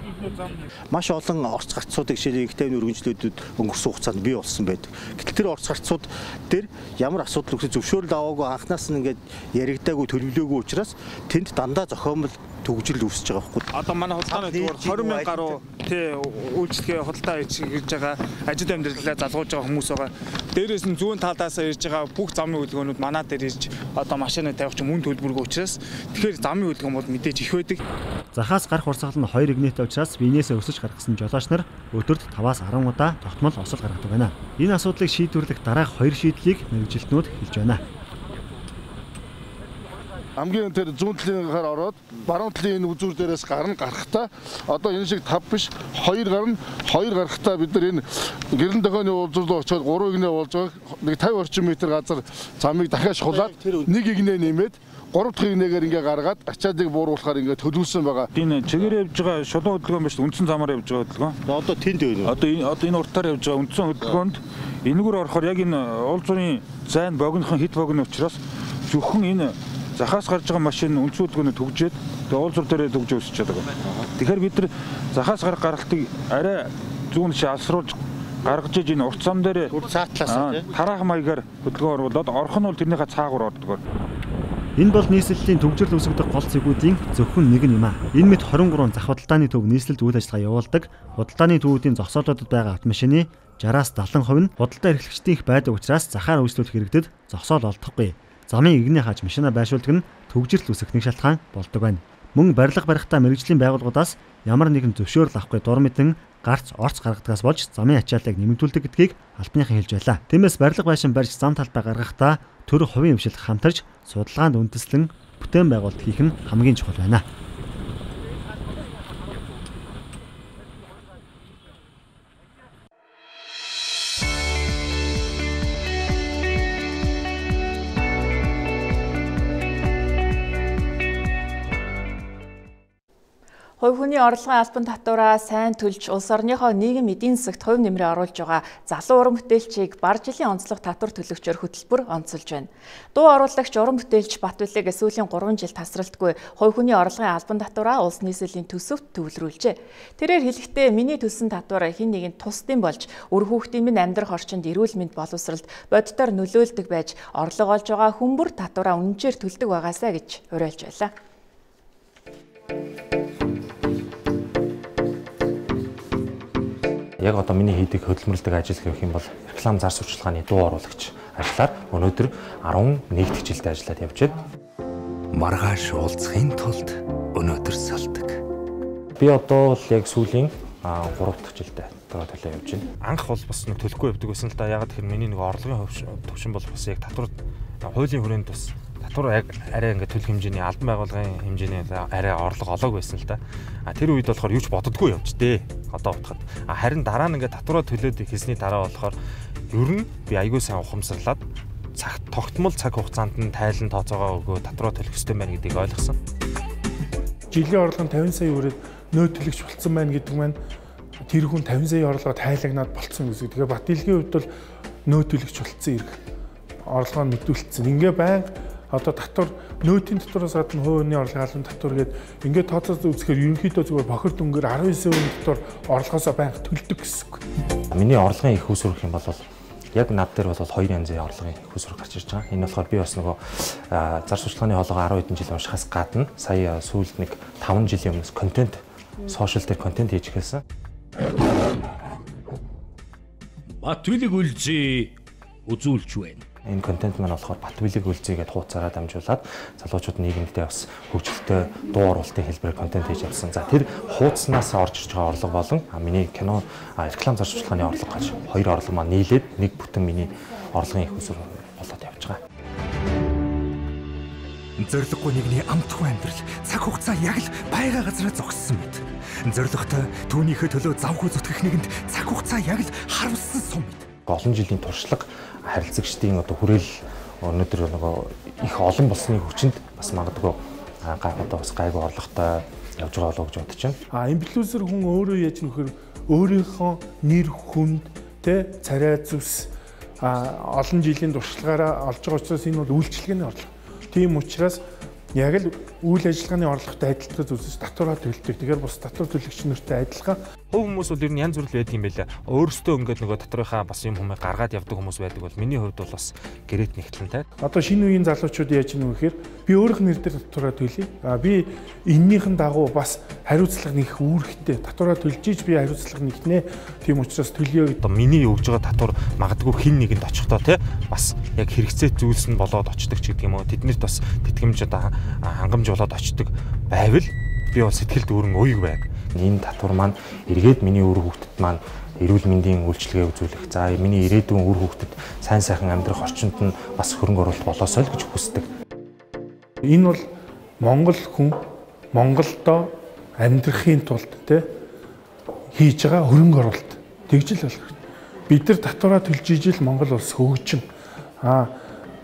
Маш олон орц гарцуудыг жишээ нь ихтэй өргөнжлөлтүүд өнгөрсөн хугацаанд бий болсон байдаг. Гэтэл тэр орц гарцууд дээр ямар асуудал үүсэж зөвшөөрөл аваагүй анхнаас нь ингээд яригдаагүй төлөвлөөгүй учраас тэнд дандаа зохиомл төгжрөл үүсэж байгаа байхгүй. Одоо манай худалдааны төвөр двадцать мянган гаруй тий үйлчлэгээ худалдаа хийж байгаа ажил амьдралаа залгуулж байгаа хүмүүс байгаа. Дээрээс нь зүүн талаас ирж байгаа бүх замын хөдөлгөөнүүд манай дээр ирж одоо машины тавих ч мөн төлбөргүй учраас тэгэхээр замын хөдөлгөөн бол мэдээж их байдаг. Захаас гарах урсгал нь хоёр игнэтэй учраас биенээсээ өсөж гаргасан жолооч нар өдөрт таваас арван удаа тогтмол осол гаргадаг байна. Энэ асуудлыг шийдвэрлэх дараах хоёр шийдлийг мэргэжилтнүүд хэлж байна. Хамгийн тэр зүүн талын гараар ороод баруун талын энэ үзүүр дээрээс гарна гарахтаа одоо энэ шиг тав биш хоёр гарна хоёр гарахтаа бид нар энэ гэрэн дохооны уулзур руу очиод гурван игнээ уулж байгаа нэг пятьдесят орчим метр газар замыг дахиад шулаад нэг игнээ нэмээд гурав дахь игнээгээр ингээ гаргаад ачаалыг бууруулахаар ингээ төлөвлөсөн байгаа. Энэ чигээр явж байгаа шулуун хөдөлгөөн биш үндсэн замаар явж байгаа хөдөлгөөн. Одоо тэнд байна. Одоо энэ одоо энэ уртаар явж байгаа үндсэн хөдөлгөөнд энэгээр орохоор яг энэ уулзрын зайн богинохон хит богино учраас зөвхөн энэ захаас гарч байгаа машин үндсэн хөдөлгөөнд төгжээд тэгээ уулзур дээрээ төгж өсөж чаддаг. Тэгэхээр бид нар захаас гарах гаралтыг арай зүүн ши алсруулж гаргаж иж энэ урт зам дээр цаатлаас тараах маягаар хөдөлгөөн оруулаад орох нь бол тэрнийхээ цаагаар ордог. Энэ бол нийслэлийн төвжирэл үүсгэх гол зэгүүдийн зөвхөн нэг нь юм а. Энэ мэт двадцать три зах худалдааны төв нийслэлд үйл ажиллагаа явуулдаг. Худалдааны төвүүдийн зогсоолуудад байгаа автомашины сixty-аас seventy хувь нь худалдаа эрхлэгчдийн их байдаг учраас захаар үйлчлүүлэх хэрэгтэд зогсоол олдохгүй. Замын игний хааж машина байршуулдаг нь төвжирэл үүсгэх нэг шалтгаан болдог байна. Мөн барилга барихтаа мэргэжлийн байгууллагуудаас ямар нэгэн зөвшөөрөл авахгүй дур мэдэн гарц орц гаргадагаас болж замын ачааллыг нэмэгдүүлдэг гэдгийг албаныхан хэлж байлаа. Тиймээс барилга байшин барьж зам талбай гаргахдаа төр хувийн хвшилт хамтарч судалгаанд үндэслэн бүтээн байгуулалт хийх нь хамгийн чухал байна. Хувь хүний орлогын албан татвараа сайн төлж улс орныхоо нийгэм эдийн засагт хувь нэмрээ оруулж байгаа залуу уран бүтээлчийг бар жилийн онцлог татвар төлөгчөөр хөтөлбөр онцолж байна. Дуу оруулагч уран бүтээлч Батбүлэг сүүлийн гурван жил тасралтгүй хувь хүний орлогын албан татвараа улс нийслэлийн төсөвт төвлөрүүлжээ. Тэрээр хэлэхдээ миний төлсөн татвар хэн нэгэн тусдын болж үр хүүхдийн минь амьдрах орчинд эрүүл мэнд боловсролд боддоор нөлөөлдөг байж орлого олж байгаа хүмүүр татвараа үнэнчээр төлдөг байгаасаа гэж уриалж байлаа. Яг одоо миний хийдэг хөдөлмөрлөдөг ажил гэх юм бол реклам зар сурчлагын дуу оруулагч ажлаар өнөөдөр eleven дэх жилдээ ажиллаад явж байна. Маргааш уулзахын тулд өнөөдөр салдаг. Би одоо л яг сүүлийн three дахь жилдээ татвараа төлөө явж байна. Анх бол бас нэг төлөхгүй явдаг байсан л да. Ягаад гэхээр миний нэг орлогын төвшин бол бас яг татвар хуулийн хүрээнд бас татвар яг арай ингээд төлөх хэмжээний албан байгууллагын хэмжээний арай орлого олоог байсан л да. А тэр үед болохоор юу ч боддоггүй явж дээ. Одоо утгад. А харин дараа нь ингээд татвараа төлөөд хийсний дараа болохоор ер нь би айгүй сайн ухамсарлаад цаг тогтмол цаг хугацаанд нь тайлан тооцоогоо өгөө татвараа төлөх ёстой байна гэдгийг ойлгосон. Жилийн орлого нь тавин сая өрөөд нөөдлөгч болцсон байна гэдэг маань тэр хүн тавин сая орлого тайлагнаад болцсон гэсэн. Тэгэхээр Батилгийн хувьд бол нөөдлөгч болцсон ирэх орлогоо мэдүүлсэн. Ингээ байнга одоо татвар нөөтийн татвараас гадна хувийн орлогын албан татвар гээд ингээд тооцоод үзэхээр ерөнхийдөө зүгээр бохир дүнгээр арван девять сая татвар орлогоосоо байнга төлдөг гэсэн. Миний орлогын их үүсвэрх юм бол яг над дээр бол хоёр янзын орлогын их үүсвэр гарч ирж байгаа. Энэ болохоор би бас нөгөө зар сурталчилгааны хоолойгоо арван хэдэн жил уншихаас гадна сая сүүлд нэг таван жилийн өмнөөс контент сошиал дээр контент хийж эхэлсэн. Батвилыг үлзий үзүүлж байна. Энэ контент маань болохоор Батвилыг үлзийгээд хуудасаараа дамжуулаад залуучууд нийгэмдээ бас хөгжилтэй дуу оруулалтын хэлбэрээр контент хийж явсан. За тэр хуудаснаас орж ирж байгаа орлого болон миний кино реклам зар сурталчилгааны орлого гэж хоёр орлого маань нийлээд нэг бүтэн миний орлогын их усүр болоод явж байгаа. Зориггүй нэгний амтгүй амьдрал цаг хугацаа яг л байга газараа зогссон мэт. Зоригтой түүнийхээ төлөө завгүй зүтгэх нэгэнд цаг хугацаа яг л харамссан сум мэт. Олон жилийн туршлага харилцагчдын одоо хүрээл өнөөдөр нөгөө их олон болсны хүчинд бас магадгүй гай одоо бас гайгүй орлоготой явж байгаа болов гэж бодож байна. А инфлюенсер хүн өөрөө яаж нөхөр өөрийнхөө нэр хүнд тэ царай зүс олон жилийн туршлагаараа олж байгаа учраас энэ бол үйлчлэгээний орлого. Тийм учраас яг л үйл ажиллагааны орлоготой адилтгаж үзэж татвараа төлдөг. Тэгэхээр бас татвар төлөгч нартай адилхан. Хувь хүмүүс бол ер нь янз бүр байдаг юм байлаа. Өөрөөсөө ингээд нөгөө татварынхаа бас юм хүмүүс гаргаад явдаг хүмүүс байдаг бол миний хувьд бол бас гэрээт нэгтлэнтэй. Одоо шинэ үеийн залуучууд яаж юм гэхээр би өөрийнх нэр дээр татвараа төлье. А би эннийхэн дагуу бас хариуцлага нэх үүрэгтэй. Татвараа төлж иж би хариуцлага нэгнэ. Тийм учраас төлөё гэдэг. Миний өгж байгаа татвар магадгүй хин нэгэнд очихдоо те бас яг хэрэгцээ зүйлс нь болоод очдөг ч гэдэг юм уу. Тэднэрт бас тэтгэмж одоо хангамж болоод очдөг байвал би бол сэтгэл дүүрэн уйг байг. Энэ татвар маань эргээд миний үр хүүхдэд маань эрүүл мэндийн үйлчилгээ үзүүлэх. За миний ирээдүйн үр хүүхдэд сайн сайхан амьдрах орчинд нь бас хөрөнгө оруулалт болоосой л гэж хүсдэг. Энэ бол Монгол хүн Монголдо амьдрахын тулд те хийж байгаа хөрөнгө оруулалт. Тэгж л болох. Бид нар татвараа төлж ижил Монгол улс хөгжин. Аа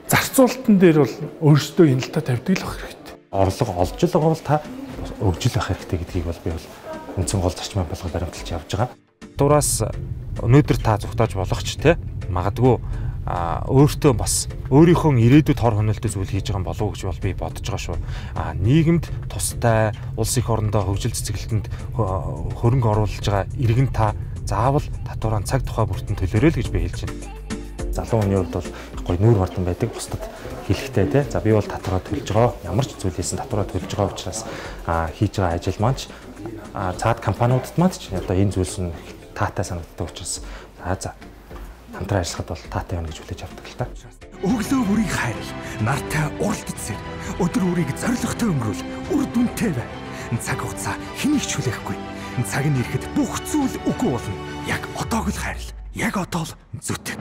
зарцуулалтан дээр бол өөрсдөө хяналтаа тавьдаг л байх хэрэгтэй. Орлого олж л байгаа бол та өгж л байх хэрэгтэй гэдгийг бол би бол үндсэн гол зарчмын болгол баримталж явж байгаа. Дураас өнөөдөр та зүгтааж болох ч те магадгүй өөртөө бас өөрийнхөө ирээдүйд хор хөнөөлтөй зүйл хийж байгаа болов уу гэж бол би бодож байгаа шүү. А нийгэмд тустай улс их орондоо хөгжил цэцгэлтэнд хөрөнгө оруулж байгаа иргэн та заавал татвараа цаг тухай бүртэн төлөөрэй л гэж би хэлж байна. Залуу хүний хувьд бол гоё нүүр хурдан байдаг бусдад хэлэхтэй те. За би бол татвараа төлж байгаа. Ямар ч зүйлээс татвараа төлж байгаа учраас хийж байгаа ажил маань ч цаад компаниудад маань ч одоо энэ зүйлс нь таатай санагддаг учраас за за хамтран ажиллахад бол таатай байна гэж хүлээж авдаг л та. Өглөө бүрийг хайр, нартай уралдаж сэр, өдөр бүрийг зоригтой өнгөрүүл, үр дүнтэй бай. Цаг хугацаа хэнийг ч хүлээхгүй. Цаг нь ирэхэд бүх зүйл үгүй болно. Яг одоог л хайрл. Яг одоо л зүтг.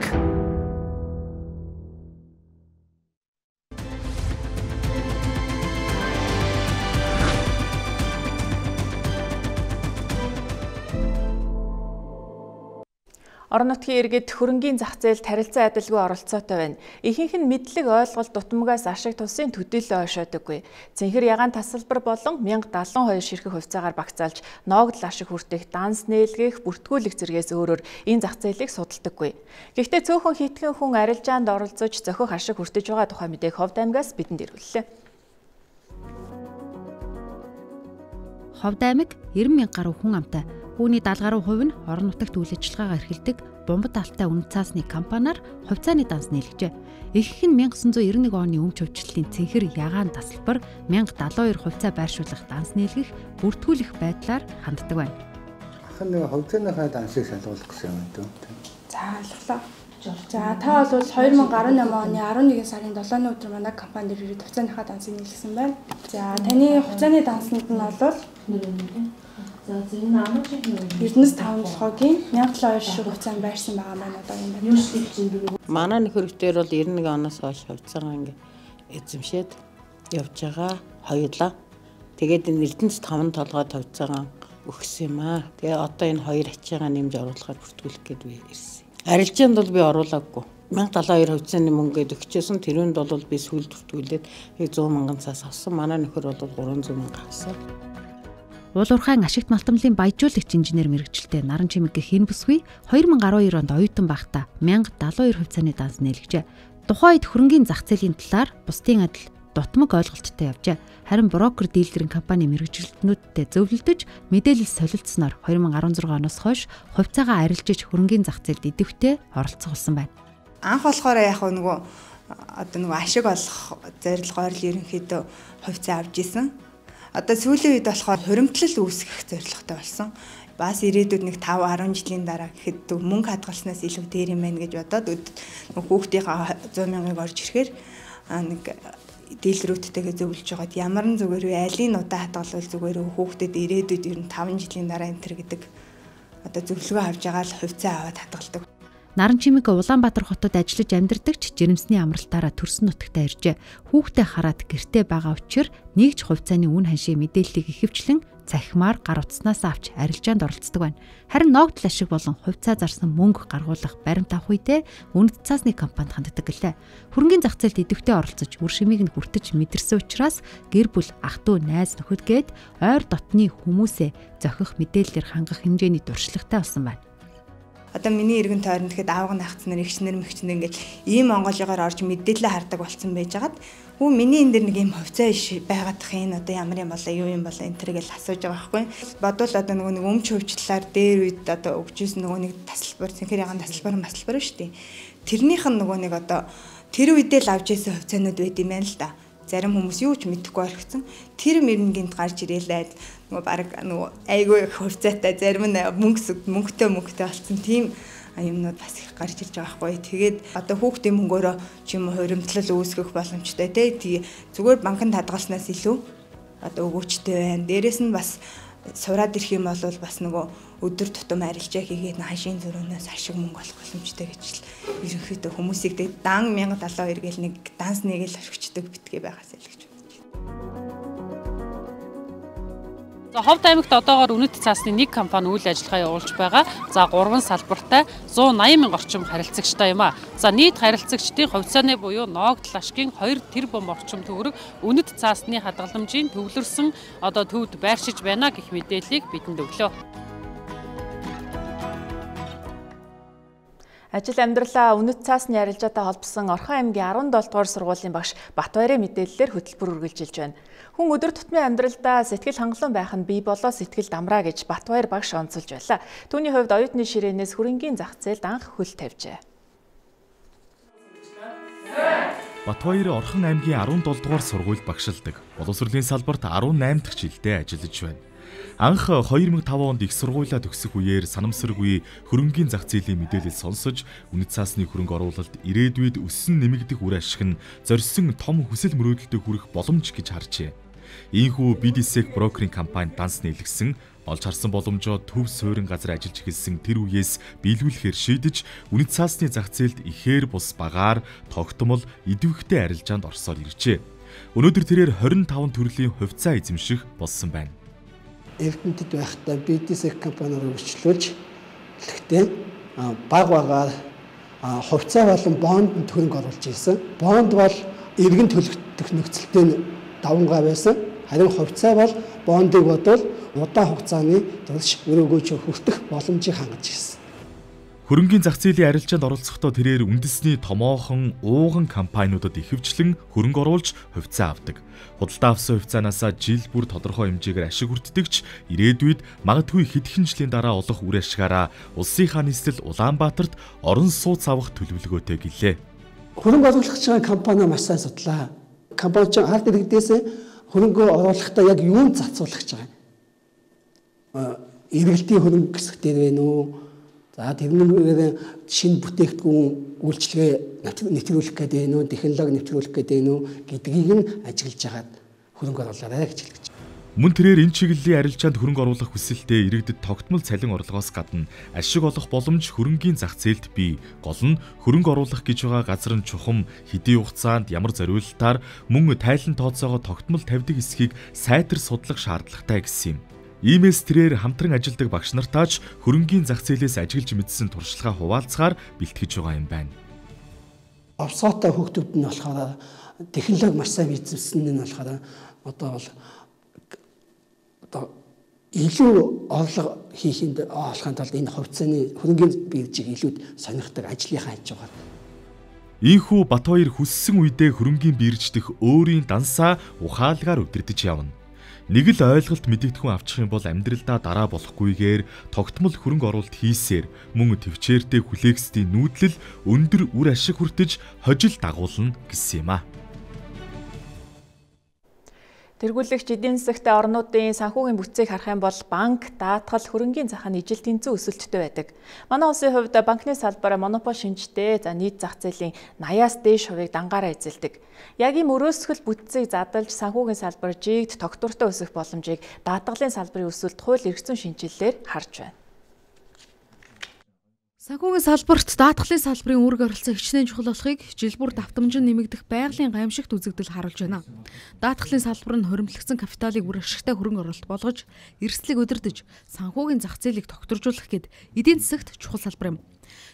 Орон нутгийн иргэд хөрөнгийн зах зээлд харилцан адилгүй оролцоотой байна. Ихэнх нь мэдлэг ойлголт дутмагаас ашиг тусын төдийлөө ойшоодоггүй. Цэнхэр ягаан тасалбар болон мянга даалган хоёр ширхэг хувьцаагаар багцаалж ноогдол ашиг хүртэх, данс нээлгэх, бүртгүүлэх зэргээс өөрөөр энэ зах зээлийг судалдаггүй. Гэхдээ цөөхөн хитгэн хүн арилжаанд оролцож зохих ашиг хүртэж байгаа тухай мэдээг Ховд аймгаас бидэнд ирүүллээ. Ховд аймаг найман мянга гаруй хүн амтай. Үүний даалга гаруй хувь нь орон нутагт үйл ажиллагаагаа эрхэлдэг бомбот алтай үнэт цаасны компаниар хувьцааны данс нийлгэжээ. Ихэнх нь 천ix ninety-one оны өмч хөвчлөлийн цэнхэр ягаан тасалбар мянга даалгавар two хувьцаа байршуулах данс нийлгэх, бүртгүүлэх байдлаар ханддаг байна. Ахын нэг хувьцааныхаа дансыг шалгуулах гэсэн юм дөө. За алглаа. За та бол twenty eighteen оны eleven сарын seven-ны өдөр манай компанид ирээд хувьцааныхаа дансыг нийлгэсэн байна. За таны хувьцааны дансанд нь бол За зөв энэ амар шиг юм. Эрдэнэс таван толгойн мянга долоон ширхэг хувьцаанд байрсан байгаа маань одоо юм байна. Юу шиг чинь манай нөхөртөр бол девятнадцать оноос хойш хувьцаагаа ингээ эзэмшээд явж байгаа хоёулаа. Тэгээд энэ эрдэнэс таван толгой хувьцаагаа өгсөн юм аа. Тэгээ одоо энэ хоёр ачаагаа нэмж оруулахаар бүртгүүлэх гээд би ирсэн. Арилжаанд бол би оруулаагүй. мянга долоо хоёр хувьцааны мөнгөд өгчээсэн. Тэрүүнд бол би сүүл бүртгүүлээд сто мянган цаас авсан. Манай нөхөр бол trois hundred мянга авсан. Уулуурхайн ашигт малтамлын баяжуулагч инженер мэргэжилтэй Наран Чимэгийн хэн бүсгүй two thousand twelve онд оюутан байхдаа one thousand seventy-two хувьцааны данс нээлгэжээ. Тухайн үед хөрөнгийн зах зээлийн талаар бусдын адил дутмаг ойлголттой явжээ. Харин брокер дийлэрийн компани мэргэжилтнүүдтэй зөвлөлдөж мэдээлэл солилцсноор two thousand sixteen оноос хойш хувьцаагаа арилжиж хөрөнгийн зах зээлд идэвхтэй оролцох болсон байна. Анх болохоор яг нөгөө одоо нөгөө ашиг олох зорилгоор л ерөнхийдөө хувьцаа авч исэн. Одоо сүүлийн үед болохоор хуримтлал үүсгэх зорилготой болсон. Бас ирээдүйд нэг five ten жилийн дараа гэхэд мөнгө хадгалснаас илүү дээр юм байна гэж бодоод хүүхдийнхаа one hundred мянгаыг орж ирэхээр нэг дийлрүүдтэйгээ зөвлөж байгаад ямар н зүгээр вэ алийн удаа хадгалвал зүгээр хүүхдэд ирээдүйд ер нь five жилийн дараа энтер гэдэг одоо зөвлөгөө авч байгаа л хувьцаа аваад хадгалдаг. Наран Чимэг Улаанбаатар хотод ажиллаж амьдардаг ч жирэмсний амралтаараа төрсөн нутагтаа иржээ. Хүүхдээ хараад гэртээ байгаа учраас нэгж хувьцааны үн ханшийн мэдээллийг ихэвчлэн цахимаар гар утаснаас авч арилжаанд оролцдог байна. Харин ногдол ашиг болон хувьцаа зарсан мөнгө гаргуулах баримт авах үедээ үнэт цаасны компанид ханддаг гэлээ. Хөрөнгийн зах зээлд идэвхтэй оролцож үр шимийг нь хүртэж мэдэрсэн учраас гэр бүл ах дүү найз нөхөдгээд ойр дотны хүмүүсээ зохих мэдээллээр хангах хэмжээний дуршлагтай болсон байна. Одоо миний иргэн тойронд тэгэхэд аавг нахцнаар ихчнэр мэгчнэр ингээд ийм Монголыгаар орж мэдээлэл хардаг болсон байж хагаад хүү миний энэ дэр нэг ийм хувьцаа иш байгаадах энэ одоо ямар юм болоо юу юм болоо энэ төргээл асууж байгаа байхгүй. Бодвол одоо нөгөө нэг өмч хөвчлэлээр дээр үед одоо өгчөөс нөгөө нэг тасалбар цэнхэр ягаан тасалбар масалбар шүү дээ. Тэрнийх нь нөгөө нэг одоо тэр үедээ л авч ирсэн хувьцаанууд байд юм байна л да. Зарим хүмүүс юу ч мэдэхгүй орхисон. Тэр мөрөнгөнд гарч ирээл нөгөө баг нөгөө айгүй хувьцаатай зарим нь мөнгө мөнгөтэй мөнгөтэй болсон тийм юмнууд бас их гарч ирж байгаа байхгүй. Тэгээд одоо хүүхдийн мөнгөөрөө ч юм уу хуримтлал үүсгэх боломжтой тий. Зүгээр банкнд хадгалснаас илүү одоо өгөөчтэй байна. Дээрэс нь бас сураад ирэх юм бол бас нөгөө өдөр тутам арилжаа хийгээд хашийн зөрөөнөөс ашиг мөнгө олох боломжтой гэж л ерөнхийдөө хүмүүсийг дан one thousand seventy-two гээл нэг данс нэг л орхичдаг битгий байгаасаа л гэж бодож байна. За Ховд аймагт одоогоор үнэт цаасны нэг компани үйл ажиллагаа явуулж байгаа. За гурван салбартай one hundred eighty мянга орчим харилцагчтай юм а. За нийт харилцагчдын хувьцааны буюу ногдол ашгийн two тэрбум орчим төгрөг үнэт цаасны хадгаламжийн төвлөрсөн одоо төвд байршиж байна гэх мэдээллийг бидэнд өглөө. Ажил амьдралаа үнэт цаасны арилжаатай холбосон Орхон аймгийн seventy дугаар сургуулийн багш Батбаярын мэдээллээр хөтөлбөр үргэлжилж байна. Хүн өдөр тутмын амьдралдаа сэтгэл хангалуун байх нь бий болоо сэтгэл дамраа гэж Батбаяр багш онцолж байлаа. Түүний хувьд оюутны ширээнээс хөрөнгийн зах зээлд анх хөл тавьжээ. Батбаяр Орхон аймгийн seventy-seven дугаар сургуульд багшилдаг. Боловсролын салбарт eighty-eight дахь жилдээ ажиллаж байна. Анх two thousand five онд их сургуулаа төгсөх үеэр санамсаргүй хөрөнгийн зах зээлийн мэдээлэл сонсож, үнэт цаасны хөрөнгө оруулалт ирээдүйд өссөн нэмэгдэх үр ашиг нь зорьсон том хүсэл мөрөөдөлтөд хүрэх боломж гэж харжээ. Ийхүү би ди эс-ийг брокерийн компанид данс нийлгэсэн, олж харсан боломжоо төв суурин газар ажиллаж эхэлсэн тэр үеэс биелүүлэхээр шийдэж, үнэт цаасны зах зээлд ихээр бус багаар тогтмол идэвхтэй арилжаанд орсоор иржээ. Өнөөдөр тэрээр twenty-five төрлийн хувьцаа эзэмших болсон байна. Эрдэнэтэд байхдаа би ди эс компаниар өргөжлүүлж гэхдээ баг багаар хувьцаа болон бонд хөрөнгө оруулж ирсэн. Бонд бол иргэн төлөгдөх нөхцөлтэй давангаа байсан. Харин хувьцаа бол бондыг бодвол удаан хугацааны турш өрөөгөөч хүртэх боломжийг хангаж ирсэн. Хөрөнгийн зах зээлийн арилжаанд оролцохдоо тэрээр үндэсний томоохон ууган компаниудад ихэвчлэн хөрөнгө оруулж хувьцаа авдаг. Худалдаа авсан хувьцаанаасаа жил бүр тодорхой хэмжээгээр ашиг хүртдэгч ирээдүйд магадгүй хэдхэн жилийн дараа олох үр ашигаараа улсынхаа нийслэл Улаанбаатарт орон сууц авах төлөвлөгөөтэй гэлээ. Хөрөнгө оруулагч компани маш сайн судлаа. Компани ч ард иргэдээс хөрөнгө оруулахдаа яг юунд зарцуулах гэж байгаа юм. Эргэлтийн хөрөнгө гэсэх дээр вэ нүү? За тэрнээр шинэ бүтээгдэхүүн үйлчлэгээ нэвтрүүлэх гэдэг нь үү, технологи нэвтрүүлэх гэдэг нь үү гэдгийг нь ажиглаж хагаад хөрөнгө оруулаарай гэж хэлж байна. Мөн тэрээр энэ чиглэлийн арилжаанд хөрөнгө оруулах хүсэлтэд иргэдэд тогтмол цалин орлогоос гадна ашиг олох боломж хөрөнгийн зах зээлд бий. Гол нь хөрөнгө оруулах гэж байгаа газар нь чухам, хэдийн хугацаанд ямар зориулалтаар мөн тайлан тооцоогоо тогтмол тавьдаг эсхийг сайтар судлах шаардлагатай гэсэн юм. Иймээс тэрээр хамтран ажилладаг багш нартаач хөрөнгийн зах зээлээс ажиглаж мэдсэн туршлагаа хуваалцахаар бэлтгэж байгаа юм байна. Овсоотой хүүхдүүд нь болохоор технологи маш сайн эзэмсэн нь болохоор одоо бол одоо илүү орлого хийхэд олохын тулд энэ хувьцааны хөрөнгийн биржийг илүү сонирхдаг ажлынхаа хийж байгаа. Ийхүү Батбаяр хүссэн үедээ хөрөнгийн бирж дэх өөрийн дансаа ухаалгаар өдөрдөж явна. Нэг л ойлголт мэдэгдэхүүн авчих юм бол амьдралдаа дараа болохгүйгээр тогтмол хөрөнгө оруулалт хийсээр мөн төвчээртэй хүлээксдийн нүүдлэл өндөр үр ашиг хүртэж хожил дагуулна гэсэн юм а. Тэргүүлэгч эдийн засагтай орнуудын санхүүгийн бүтцийг харах юм бол банк, даатгал, хөрөнгийн зах нь ижил тэнцүү өсөлттэй байдаг. Манай улсын хувьд банкны салбар монопол шинжтэй, за нийт зах зээлийн нааяас дээш хувийг дангаараа эзэлдэг. Яг ийм өрөөсгөл бүтцийг задалж санхүүгийн салбар жигд тогтвортой өсөх боломжийг даатгалын салбарын өсөлт хууль эрх зүйн шинжилэлээр харж байна. Санхүүгийн салбарт даатгалын салбарын үүрэг оролцоо хичнээн чухал болохыг жил бүр давтамжин нэмэгдэх байгалийн гамшигт үзэгдэл харуулж байна. Даатгалын салбар нь хоримтлогдсон капиталыг үр ашигтай хөрөнгө оруулалт болгож, эрсдлийг удирдах, санхүүгийн зах зээлийг тогтворжуулах гэд эдийн засагт чухал салбар юм.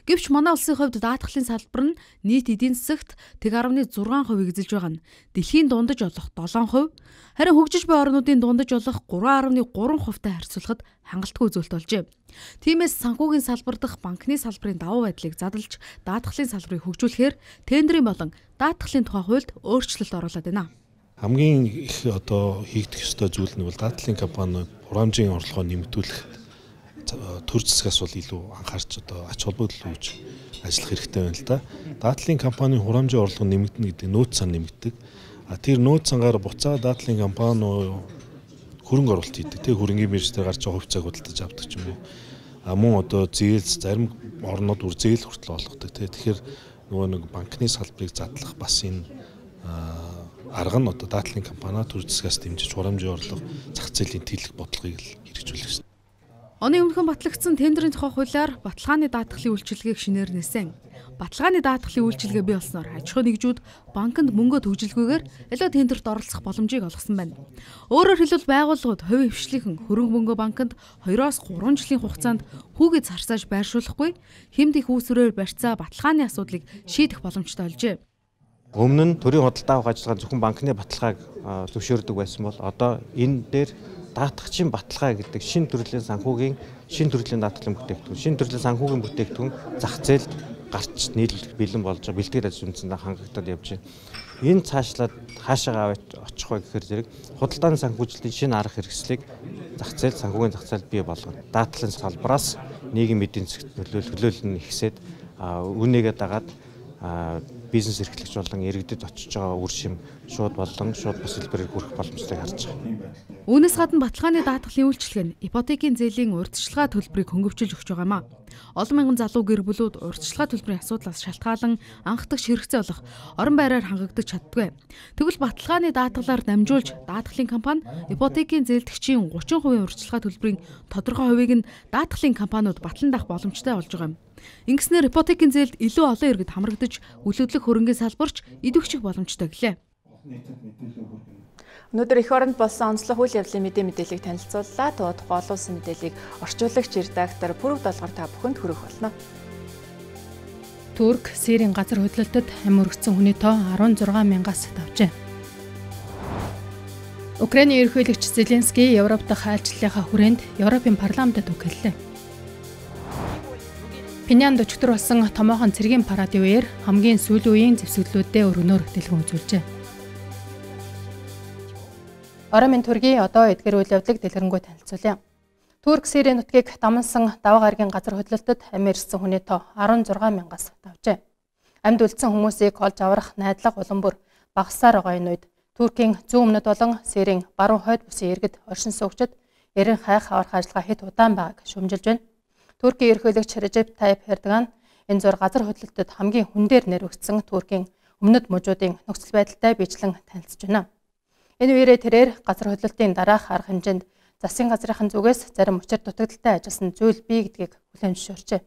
Гэвч манай улсын хувьд даатгалын салбар нь нийт эдийн засагт нэг гаруй зургаан хувийг эзэлж байгаа нь дэлхийн дундаж олох долоон хувь, харин хөгжиж буй орнуудын дундаж олох гурван гаруй гурван хувьтай харьцуулахад хангалтгүй үзүүлэлт болжээ. Тиймээс санхүүгийн салбар дахь банкны салбарын давуу байдлыг задалж даатгалын салбарыг хөгжүүлэхээр тендерийн болон даатгалын тухай хуульд өөрчлөлт оруулаад байна. Хамгийн их одоо хийгдэх ёстой зүйл нь бол даатгалын компани хураамжийн орлогоо нэмэгдүүлэх төр засгаас бол илүү анхаарч одоо ач холбогдол үүж ажиллах хэрэгтэй байна л да. Даатгалын компанийн хураамжийн орлого нэмэгдэнэ гэдэг нөөц сан нэмэгдэг. А тэр нөөц сангаар буцаа даатгалын компани хөрөнгө оруулалт хийдэг. Тэг хөрөнгийн биржээр гарч байгаа хувьцааг худалдаж авдаг ч юм уу. А мөн одоо зээлс зарим орнууд үр зээл хүртэл олгодог. Тэгэхээр нөгөө нэг банкны салбарыг задлах бас энэ арга нь одоо даатгалын компани төр засгаас дэмжиж хураамжийн орлого зах зээлийн тэлэх бодлогыг л хэрэгжүүлэх ёстой. Оны өмнөхөн батлагдсан тендерийн тухай хуулиар баталгааны даатгалын үйлчилгээг шинээр нээсэн. Баталгааны даатгалын үйлчилгээ бий болсноор аж ахуй нэгжүүд банкнд мөнгө төвжилгүйгээр аливаа тендерт оролцох боломжийг олгосон байна. Өөрөөр хэлбэл байгууллагууд хувийн хвшлийнхэн хөрөнгө мөнгө банкнд хоёроос гурван жилийн хугацаанд хүүгээ зарцааж байршуулахгүй хэмт их үүсвэрээр барьцаа баталгааны асуудлыг шийдэх боломжтой олжээ. Өмнө нь төрийн худалдаа авах ажиллагаа зөвхөн банкны баталгааг зөвшөөрдөг байсан бол одоо энэ дээр даатгагчийн баталгаа гэдэг шин төрлийн санхүүгийн шин төрлийн даатгалын бүтээгдэхүүн, шин төрлийн санхүүгийн бүтээгдэхүүн зах зээлд гарч нийлүүлэх бэлэн болж байгаа бэлтгэл ажил үндэсэндээ хангагдаад явж байна. Энэ цаашлаад хаашаа очих вэ гэхээр зэрэг худалдааны санхүүжилтийн шинэ арга хэрэгслийг зах зээл санхүүгийн зах зээлд бий болгоно. Даатгалын салбараас нийгэм эдийн засгт нөлөөлөл нь ихсээд үнийгээ дагаад бизнес эрхлэгч болон иргэдэд очиж байгаа үр шим шууд болон шууд бус хэлбэрээр хүрэх боломжтойг харж байгаа. Үүнээс гадна баталгааны даатгалын үйлчилгээ нь ипотекийн зээлийн урьдчилгаа төлбөрийг хөнгөвчилж өгч байгаа юм а. Олон мянган залуу гэр бүлүүд урьдчилгаа төлбөрийн асуудлаас шалтгаалan анхдагч хэрэгцээ болох орон байраар хангагдаж чаддгүй. Тэгвэл баталгааны даатгалаар дамжуулж даатгалын компани ипотекийн зээлдэгчийн гучин хувийн урьдчилгаа төлбөрийн тодорхой хувийг нь даатгалын компаниуд батлан даах боломжтой болж байгаа юм. Ингэснээр ипотекийн зээлд илүү олон иргэд хамрагдаж үлгэдлэх хөрөнгийн салбарч идэвхжих боломжтой гэлээ. Өнөөдөр эх оронд болсон онцлог үйл явдлын мэдээ мэдээллийг танилцууллаа. Тууд голуулсан мэдээллийг орчуулагч редактор Пүрэг Долгор та бүхэнд хүргэх болно. Турк Сирийн газар хөдлөлтөд амь өргөцсөн хүний тоо арван зургаан мянгаас давжээ. Украиний ерөнхийлөгч Зеленский Европ дахь айлчлалынхаа хүрээнд Европын парламентод үг хэллээ. Пинянд өчигдөр болсон томоохон цэргийн парадын үеэр хамгийн сүүлийн үеийн зэвсэглэлүүдэд өргөнөөр дэлгэн үзүүлжээ. Орон минь төргийн одоо эдгээр үйл явдлыг дэлгэрэнгүй танилцуулъя. Турк Сирийн нутгийг дамнасан даваа гарагийн газар хөдлөлтөд амь ирсэн хүний тоо арван зургаан мянгаас давжээ. Амьд үлдсэн хүмүүсийг олж аврах найдлага улам бүр багассаар байгаа энэ үед Туркийн зүүн өмнөд болон Сирийн баруун хойд бүсийн иргэд оршин суугчид ярин хайх аврах ажиллагаа хэд удаан байгааг шүүмжилж байна. Туркийн ерөнхийлөгч Режеп Тайип Эрдоган энэ зур газар хөдлөлтөд хамгийн хүн дээр нэрвэгдсэн Туркийн өмнөд мужуудын нөхцөл байдалтай бичлэн танилцж байна. Энэ үеэрээ тэрээр газар хөдлөлтийн дараах арга хэмжээнд засгийн газрын зүгээс зарим учир дутагдaltaй ажилласан зүйл бий гэдгийг хүлээн зөвшөөрчээ.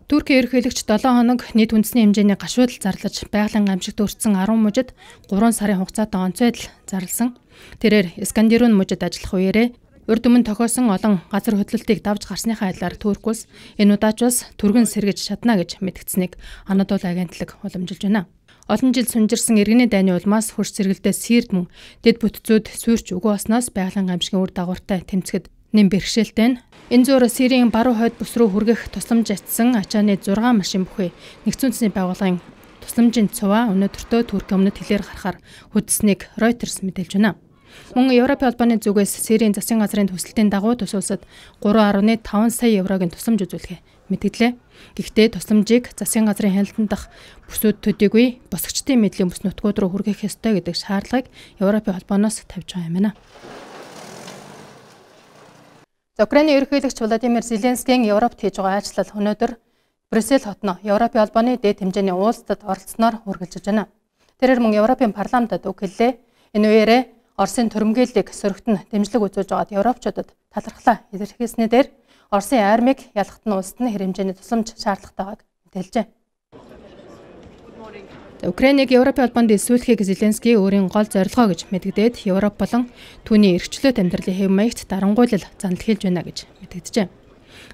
Туркийн ерөнхийлөгч долоо хоног нийт үндэсний хэмжээний гашуудал зарлаж байгалийн гамшигт өртсөн арван мужид гурван сарын хугацаатай онцгой адил зарласан. Тэрээр Искандерун мужид ажиллах үеэрээ урд өмнө тохиосон олон газар хөдлөлтийг давж гарсныхаа адилаар Турк улс энэ удаач бас түргэн сэргэж чадна гэж мэдгдсэнийг Анадолу агентлаг уламжилж байна. Олон жил сунжирсан иргэний дайны улмаас хурц сэргэлдээ сийрд мөн дэд бүтцүүд сүйрч үгүй болсноос байгалийн гамшигын үр дагавартай тэмцэхэд нэм бэрхшээлтэй нь энэ зуур Сирийн баруун хойд бүс рүү хүргэх тусламж атсан ачааны зургаан машин бүхий нэгдсэн үндэсний байгууллагын тусламжийн цуваа өнөөдөртөө Туркийн өмнөд хэлээр гарахаар хөдөлсөнийг Reuters мэдээлж байна. Мөн Европын холбооны зүгээс Сирийн засгийн газрын төсөлтийн дагуу тус улсад гурван гаруй таван сая еврогийн тусламж үзүүлэхээ мэдгэлээ. Гэхдээ тусламжийг засгийн газрын хяналтанд дах бүсүүд төдийгүй босгочдын мэдлийн бүс нутгууд руу хүргэх ёстой гэдэг шаардлагыг Европын холбооноос тавьж байгаа юм байна. Украиний ерөнхийлөгч Владимир Зеленскийн Европт хийж байгаа ажил өнөөдөр Брюссел хотно Европын холбооны дээд хэмжээний уулзалтад оролцсноор үргэлжилж байна. Тэрээр мөн Европын парламентад үг хэллээ. Энэ үеэрээ Оросын төрөмгийллийг сөрөгтөн дэмжлэг үзүүлж байгаад европчуудад талархлаа илэрхийлснээр дээр Оросын армийг ялахт нь улсад нь хэмжээний тусламж шаардлагатайг мэдээлжээ. Украиныг Европын холбоонд элсүүлэхийг Зеленский өөрийн гол зорилгоо гэж мэдэгдээд Европ болон түүний эрхчлөөт амьдралын хэв маягт дарангуйлал занал хэлж байна гэж мэдэгджээ.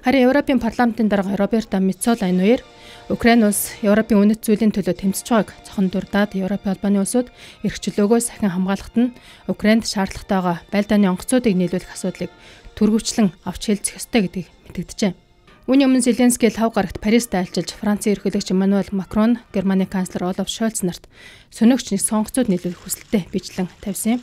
Харин Европын парламентын дарга Роберто Меццола энэ үеэр Украин улс Европын үнэт зүйлийн төлөө тэмцэж байгааг цохон дурдаад Европын холбооны улсууд эрхчлөөгөө сахин хамгаалахад нь Украинд шаардлагатайгаа байлдааны онгоцуудыг нийлүүлэх асуудлыг түргөвчлэн авч хэлцэх ёстой гэдгийг мэдэгджээ. Үүний өмнө Зеленский лав гарагт Парист айлчилж Францын ерөнхийлөгч Эммануэл Макрон, Германы канцлер Олаф Шольц нарт сөнөгч нэг сонгоцууд нийлүүлэх хүсэлтэд бичлэн тавьсан юм.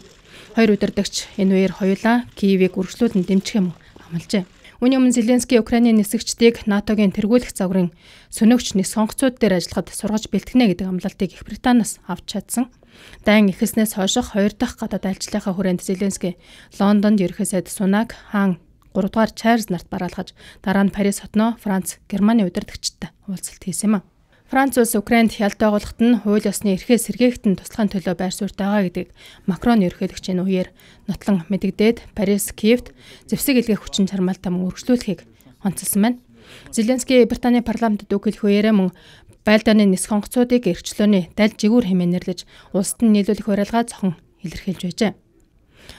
Хоёр удирдагч энэ үеэр хоёулаа Киевийг үргэлжлүүлэн дэмжих юм амлажээ. Үүний өмнө Зеленский Украиний нисгчдийг НАТОгийн тэргүүлэх загварын сөнөгч нэг сонгоцууд дээр ажиллахад сургаж бэлтгэнэ гэдэг амлалтыг Их Британаас авч чадсан. Дайн эхэлснээс хойших хоёр дахь гадаад айлчлалынхаа хүрээнд Зеленский Лондонд ерөнхий сайд Сунак, хаан гурав дугаар Чарльз нарт бараалгаж дараа нь Парис хотноо Франц, Германы удирдагчтай уулзалт хийсэн юм а. Франц улс Украинд хялт байгуулахад нь хууль ёсны эрхээ сэргээхтэн туслахын төлөө байр суурьтай байгаа гэдгийг Макрон ерөнхийлөгч энэ үеэр нотлон мэдэгдээд Парис, Киевт зэвсэг илгээх хүчин чармаалтаа мөн үргэлжлүүлэхийг онцлсан байна. Зеленский Британий парламентд үг хэлэх үеэрээ мөн байлдааны нисэх онгоцуудыг эрхчлөөний даль жигүүр хэмээн нэрлэж улсад нь нийлүүлэх уриалгаа зохон илэрхийлж байжээ.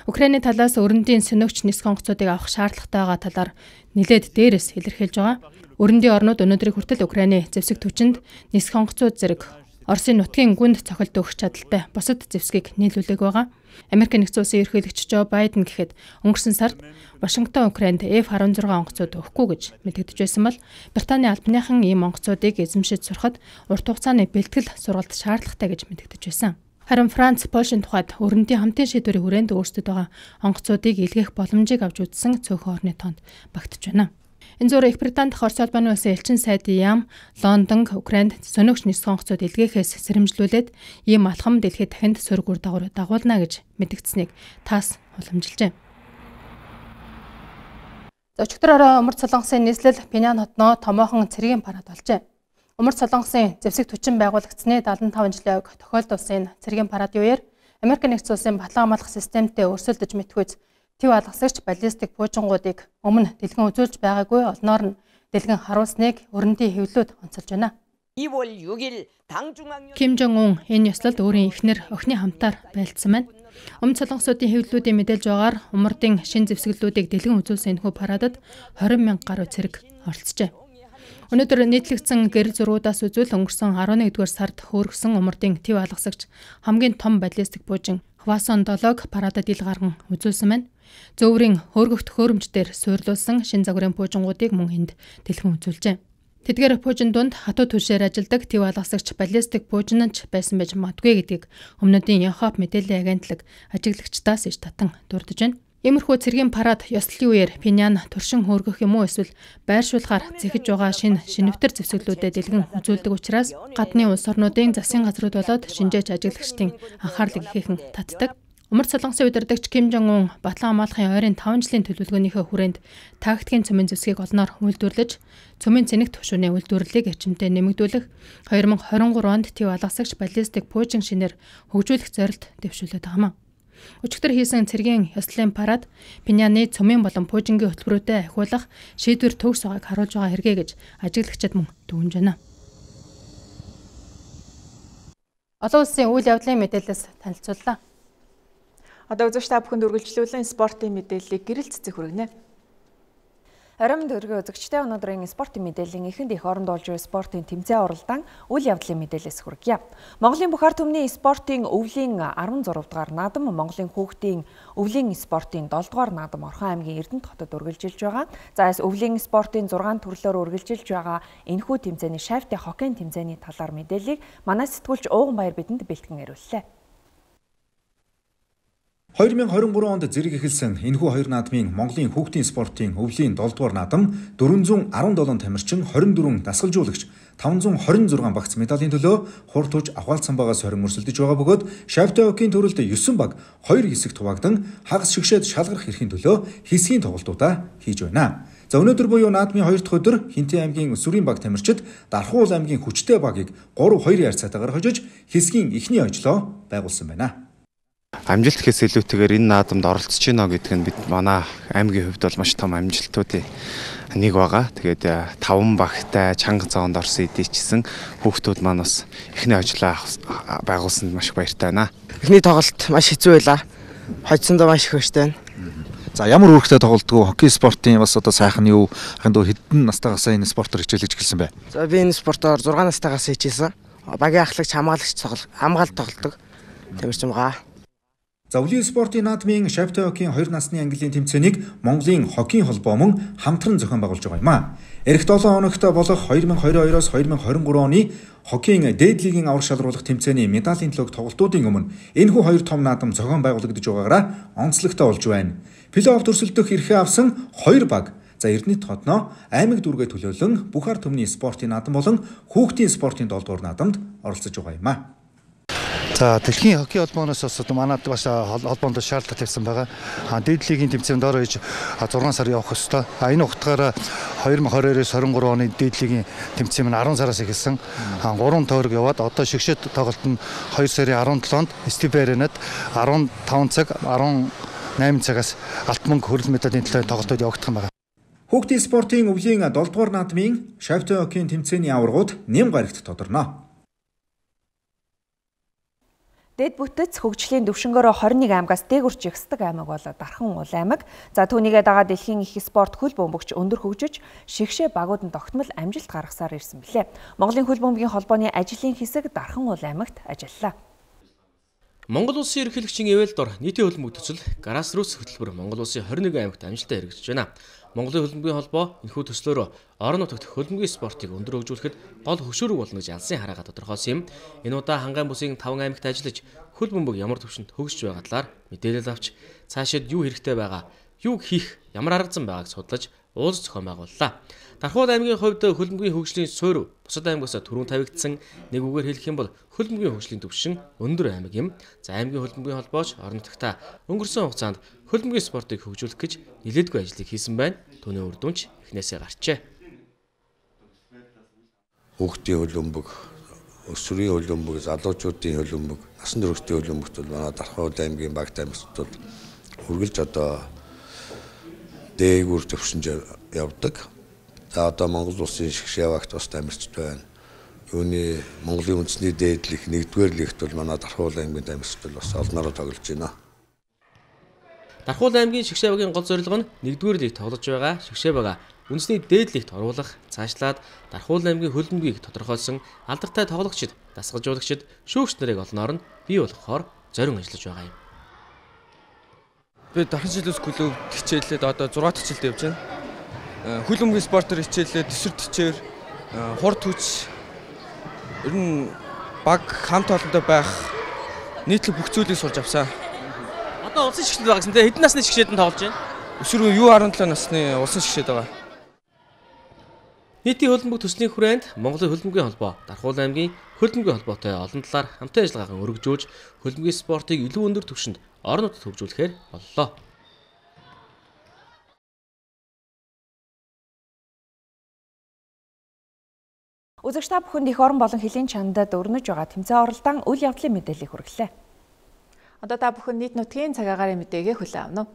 Украиний талаас өрөндийн сөнөгч нисэх онгоцуудыг авах шаардлагатай байгаа талаар нэлээд дээрээс илэрхийлж байгаа. Өрөндийн орнууд өнөөдрийг хүртэл Украиний зэвсэг түвшинд нисэх онгоцууд зэрэг Оросын нутгийн гүнд цохилт өгөх чадaltaй бусад зэвсгийг нийлүүлээг байгаа. Америк нэгдсэн улсын ерөнхийлөгч Жо Байден гэхэд өнгөрсөн сард Вашингтон Украинд эф харин зургаан онгоцууд өгөхгүй гэж мэдэгдэж байсан бол Британий албаныхан ийм онгоцуудыг эзэмшиж сурахад урт хугацааны бэлтгэл сургалт шаардлагатай гэж мэдэгдэж байсан. Харин Франц, Польшийн тухайд өрөндийн хамтын шийдвэрийн хүрээнд өөрсдөд байгаа онгоцуудыг илгээх боломжийг авч үзсэн цөөхөн орны тоонд багтж байна. Энэ зур Их Британд Орос улбаны улсын элчин сайд Ям Лондон, Украинд сөнөгч нисэх онгоцууд илгээхээс сэрэмжлүүлээд ийм алхам дэлхийд дахинд сөрөг үр дагавар дагуулна гэж мэдэгдсэнийг тас уламжилжээ. Зочигдраараа Умард Солонгосын нийслэл Пинян хотноо томоохон цэргийн парад болжээ. Умард Солонгосын зэвсэг түвшин байгуулагдсны дадлан таван жилийн ог тохиолдуулсан цэргийн парадын үеэр Америк нэгдсэн улсын батлан хамгаалах системтэй өрсөлдөж мэдхүйц Тэв алгасагч баллистик буужингуудыг өмнө дэлгэн үзүүлж байгаагүй олноор нь дэлгэн харуулсныг өрөндийн хэвлэлүүд онцолж байна. Ким Жон Ун энэ ёслолд өөрийн эхнэр охины хамтаар байлдсан байна. Өмнө солонгосуудын хэвлэлүүдийн мэдээлж байгаагаар умардын шин зэвсгэлүүдийг дэлгэн үзүүлсэн энэхүү парадад двадцать мянган гаруй цэрэг оролцжээ. Өнөөдөр нийтлэгдсэн гэр зургуудаас үзвэл өнгөрсөн арван нэгдүгээр сард хөөргсөн умардын тэв алгасагч хамгийн том баллистик буужин Хвасон долоог парадад ил гарган үзүүлсэн байна. Зөөврийн хөөргөх төхөөрөмж дээр суйрлуулсан шин загварын буужингуудыг мөн энд дэлгэн үзүүлжээ. Тэдгээр буужин дунд хатуу түвшээр ажилладаг тэв алгасагч баллистик буужинч байсан байж магадгүй гэдгийг өмнөдийн Яхоп мэдээллийн агентлаг ажиглагчдаас иш татан дурдж байна. Иймэрхүү цэргийн парад ёслолын үеэр Пинян туршин хөөргөх юм уу эсвэл байршуулахаар зэхэж байгаа шин шинэвтер зэвсгэлүүдэд дэлгэн үзүүлдэг учраас гадны улс орнуудын засгийн газрууд болоод шинжээч ажиглагчдын анхаарлыг ихээхэн татдаг. Умард солонгосын удирдагч Ким Жон Ун Батлан хамгаалахын ойрын таван жилийн төлөвлөгөөнийхөө хүрээнд тактикийн цөмийн зэвсгийг олноор үйлдвэрлэж, цөмийн цэник түвшүүрийн үйлдвэрлэлийг эрчимтэй нэмэгдүүлэх, хоёр мың хорин гурав онд Төв алгасагч баллистик пуужин шинээр хөгжүүлэх зорилт дэвшүүлээд байгаа юм. Өчигдөр хийсэн цэргийн ёслолын парад Пиняны цөмийн болон пуужингийн хөтөлбөрүүдэд ахиулах шийдвэр төгс байгааг харуулж байгаа хэрэгэ гэж ажиглагчид мөн дүгнэж байна. Олон улсын үйл явдлын мэдээлэлс танилцууллаа. Одоо үзэгч та бүхэнд үргэлжлүүлэн спортын мэдээллийг гэрэл цэцэг хүргэнэ. Аримд өргөө үзэгчтэй өнөөдрийн спортын мэдээллийн эхэнд их оронд болж буй спортын тэмцээн уралдаан үйл явдлын мэдээлэлс хүргье. Монголын бүх ард түмний спортын өвлийн арван зурав дахь наадам Монголын хүүхдийн өвлийн спортын долоо дахь наадам Орхон аймгийн Эрдэнэт хотод үргэлжилж байгаа. За өвлийн спортын зургаан төрлөөр үргэлжилж байгаа энэхүү тэмцээний шавьтай хоккейн тэмцээний талаар мэдээллийг манай сэтгүүлч Ууган Баяр бидэнд бэлтгэн яриуллаа. две тысячи двадцать три онд зэрэг эхэлсэн энэхүү хоёр наадмын Монголын хүүхдийн спортын өвлийн долоо дахь наадам дөрвөн зуун арван долоо тамирчин хорин дөрвөн дасгалжуулагч таван зуун хорин зургаан багц медалийн төлөө хурд туж авахалцсан багаас хорин өрсөлдөж байгаа бөгөөд шавьтай хоккейн төрөлд есөн баг хоёр хэсэгт хуваагдан хагас шигшээд шалгарах эрхийн төлөө хэсгийн тоглолтуудаа хийж байна. За өнөөдөр буюу наадмын хоёр дахь өдөр Хинтээ аймгийн Өсвөрийн баг тамирчид Дархуул аймгийн Хүчтэй багийг гурав хоёр ярцаатаагаар хожиж хэсгийн эхний ожлоо байгуулсан байна. Амжилт гэхээс илүүтэйгээр энэ наадамд оролцож байна гэдэг нь бид манай аймгийн хувьд бол маш том амжилтуудын нэг байгаа. Тэгээд таван багтай чанга зоонд орсон эдийчсэн хүүхдүүд маань бас эхний ажлаа байгуулсанд маш их баяртай байна. Эхний тоглолт маш хэцүү байлаа. Хожсондоо маш их баяртай байна. За ямар үүрэгтэй тоглолтгүй хоккей спортын бас одоо сайхан юу ханд хэдэн настайгаас энэ спортоор хичээлж эхэлсэн бэ? За би энэ спортоор зургаан настайгаас хичээсэн. Багийн ахлагч хамгаалагч хамгаалт тоглодог. Тамирчин байгаа. За өвлийн спортын наадмын шавьтай хоккейн хоёр насны английн тэмцээнийг Монголын хоккейн холбоо мөн хамтран зохион байгуулж байгаа юм а. Эх долоо хоногт болох две тысячи двадцать two-оос две тысячи двадцать три оны хоккейн дээд лигийн аврах шалруулах тэмцээний медалийн төлөв тоглолтуудын өмнө энэхүү хоёр том наадам зохион байгуулагдаж байгаагаараа онцлогтой болж байна. Плей-офф төрсөлдөх эрхээ авсан хоёр баг за Эрдэнэт хотноо аймаг дүүргээ төлөөлөн бүх ард түмний спортын наадам болон хүүхдийн спортын долоо дахь наадамд оролцож байгаа юм а. За дэлхийн хоккей холбооноос бас манад бас холбоонд шаардлага тавьсан байгаа. Дээд лигийн тэмцээнд ороо хийж зургаан сар явах ёстой. А энэ утгаараа две тысячи двадцать two-оос twenty-three оны дээд лигийн тэмцээн нь ten сараас эхэлсэн. three тойрог яваад одоо шигшээд тоглолт нь two сарын seventh-нд Стив Аренад fifteen цаг eighteen цагаас алт мөнгө хөрөл медалийн төлөө тоглолтууд явагдах юм байна. Хүүхдийн спортын өвлийн долоо дахь наадмын шавьтай хоккейн тэмцээний аваргууд Нэм гарагт тодорно. Дэд бүтэц хөгжлийн төвшнгөөрөө twenty-one аймгаас дээгүр жигсдэг аймаг бол Дархан уул аймаг. За түүнийгээ дагаад дэлхийн их спорт хөл бөмбөгч өндөр хөгжиж шигшээ багууданд тогтмол амжилт гаргасаар ирсэн билээ. Монголын хөл бөмбөгийн холбооны ажлын хэсэг Дархан уул аймагт ажиллалаа. Монгол улсын ерөнхийлөгчийн эвэл дор нийтийн хөлбөмбөг төсөл Grassroots хөтөлбөр Монгол улсын twenty-one аймагт амжилттай хэрэгжиж байна. Монголын хөлбөмбөгийн холбоо энэхүү төслөөр орон нутагт хөлбөмбөгийн спортыг өндөр хөгжүүлэхэд гол хөшөөрөг болно гэж алсын хараагаа тодорхойлсон юм. Энэ удаа Хангайн бүсийн five аймагт ажиллаж хөлбөмбөг ямар төвшөнд хөгжиж байгаа талаар мэдээлэл авч цаашид юу хэрэгтэй байгаа, юу хийх, ямар арга зам байгааг судлаж уулз зохион байгууллаа. Дархуул аймгийн хувьд хөлбөмбөгийн хөгжлийн суурь бусад аймагаас түрүүн тавигдсан, нэг үгээр хэлэх юм бол хөлбөмбөгийн хөгжлийн түвшин өндөр аймаг юм. За аймгийн хөлбөмбөгийн холбооч орон нутагта өнгөрсөн хугацаанд хөлбөмбөгийн спортыг хөгжүүлэх гэж нэлээдгүй ажлыг хийсэн байна. Түүний үр дүнч эхнээсээ гарчээ. Хүүхдийн хөлбөмбөг, өсвөрийн хөлбөмбөг, залуучуудын хөлбөмбөг, насан туршийн хөлбөмбөгт бол манай Дархуул аймгийн баг тамирчид бол үргэлж одоо дээгүүр төвшөнд явдаг. За одоо Монгол улсын шигшээ багт бас тамирчид байна. Юуны Монголын үндэсний дээдлэх нэгдүгээр лигт бол манай Дархуул аймгийн тамирчид бол бас олнороо тоглож байна. Дархуул аймгийн шигшээ багийн гол зорилго нь нэгдүгээр лигт тоглож байгаа шигшээ бага үндэсний дээдлэгт оруулах, цаашлаад Дархуул аймгийн хөлбөмбөгийг тодорхойлсон алдартай тоглогчид, дасгалжуулагчид, шүүгч нарыг олноор нь бий болгохоор зорин ажиллаж байгаа юм. Би Дархан жилээс клуб хичээлээд одоо six дахь хичээлд явж байна. Хөлбөмбөгийн спортоор хичээлээд төсвөр төчээр хурд хүч ер нь баг хамт олонтой байх нийтлэг бүх зүйлийг сурч авсан. Одоо улсын шигшээд байгаа гэсэн тэ хэдэн насны шигшээд нь тоглож байна? Өсвөр юу seventeen насны улсын шигшээд байгаа. Нийтийн хөлбөмбөг төслийн хүрээнд Монголын хөлбөмбөгийн холбоо Дархуул аймгийн хөлбөмбөгийн холбоотой олон талаар хамтын ажиллагаагаа өргөжүүлж хөлбөмбөгийн спортыг илүү өндөр түвшинд орон нутагт хөгжүүлэхээр боллоо. Үзэгч та бүхэнд их орон болон хөлийн чандад өрнөж байгаа тэмцээн оролдон үйл явдлын мэдээллийг хүргэлээ. Одоо та бүхэн нийт нутгийн цаг агарын мэдээгээ хүлээн авна уу?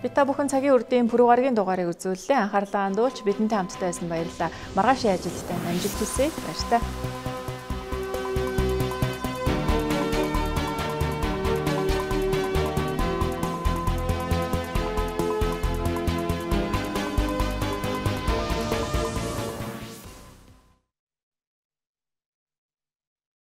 Бид та бүхэн цагийн үрдийн пүрэв гарагийн дугаарыг үзүүллээ. Анхаарлаа хандуулж бидэнтэй хамтдаа байсан баярлалаа. Маргаашийн ажилдаа амжилт хүсье. Баярлалаа.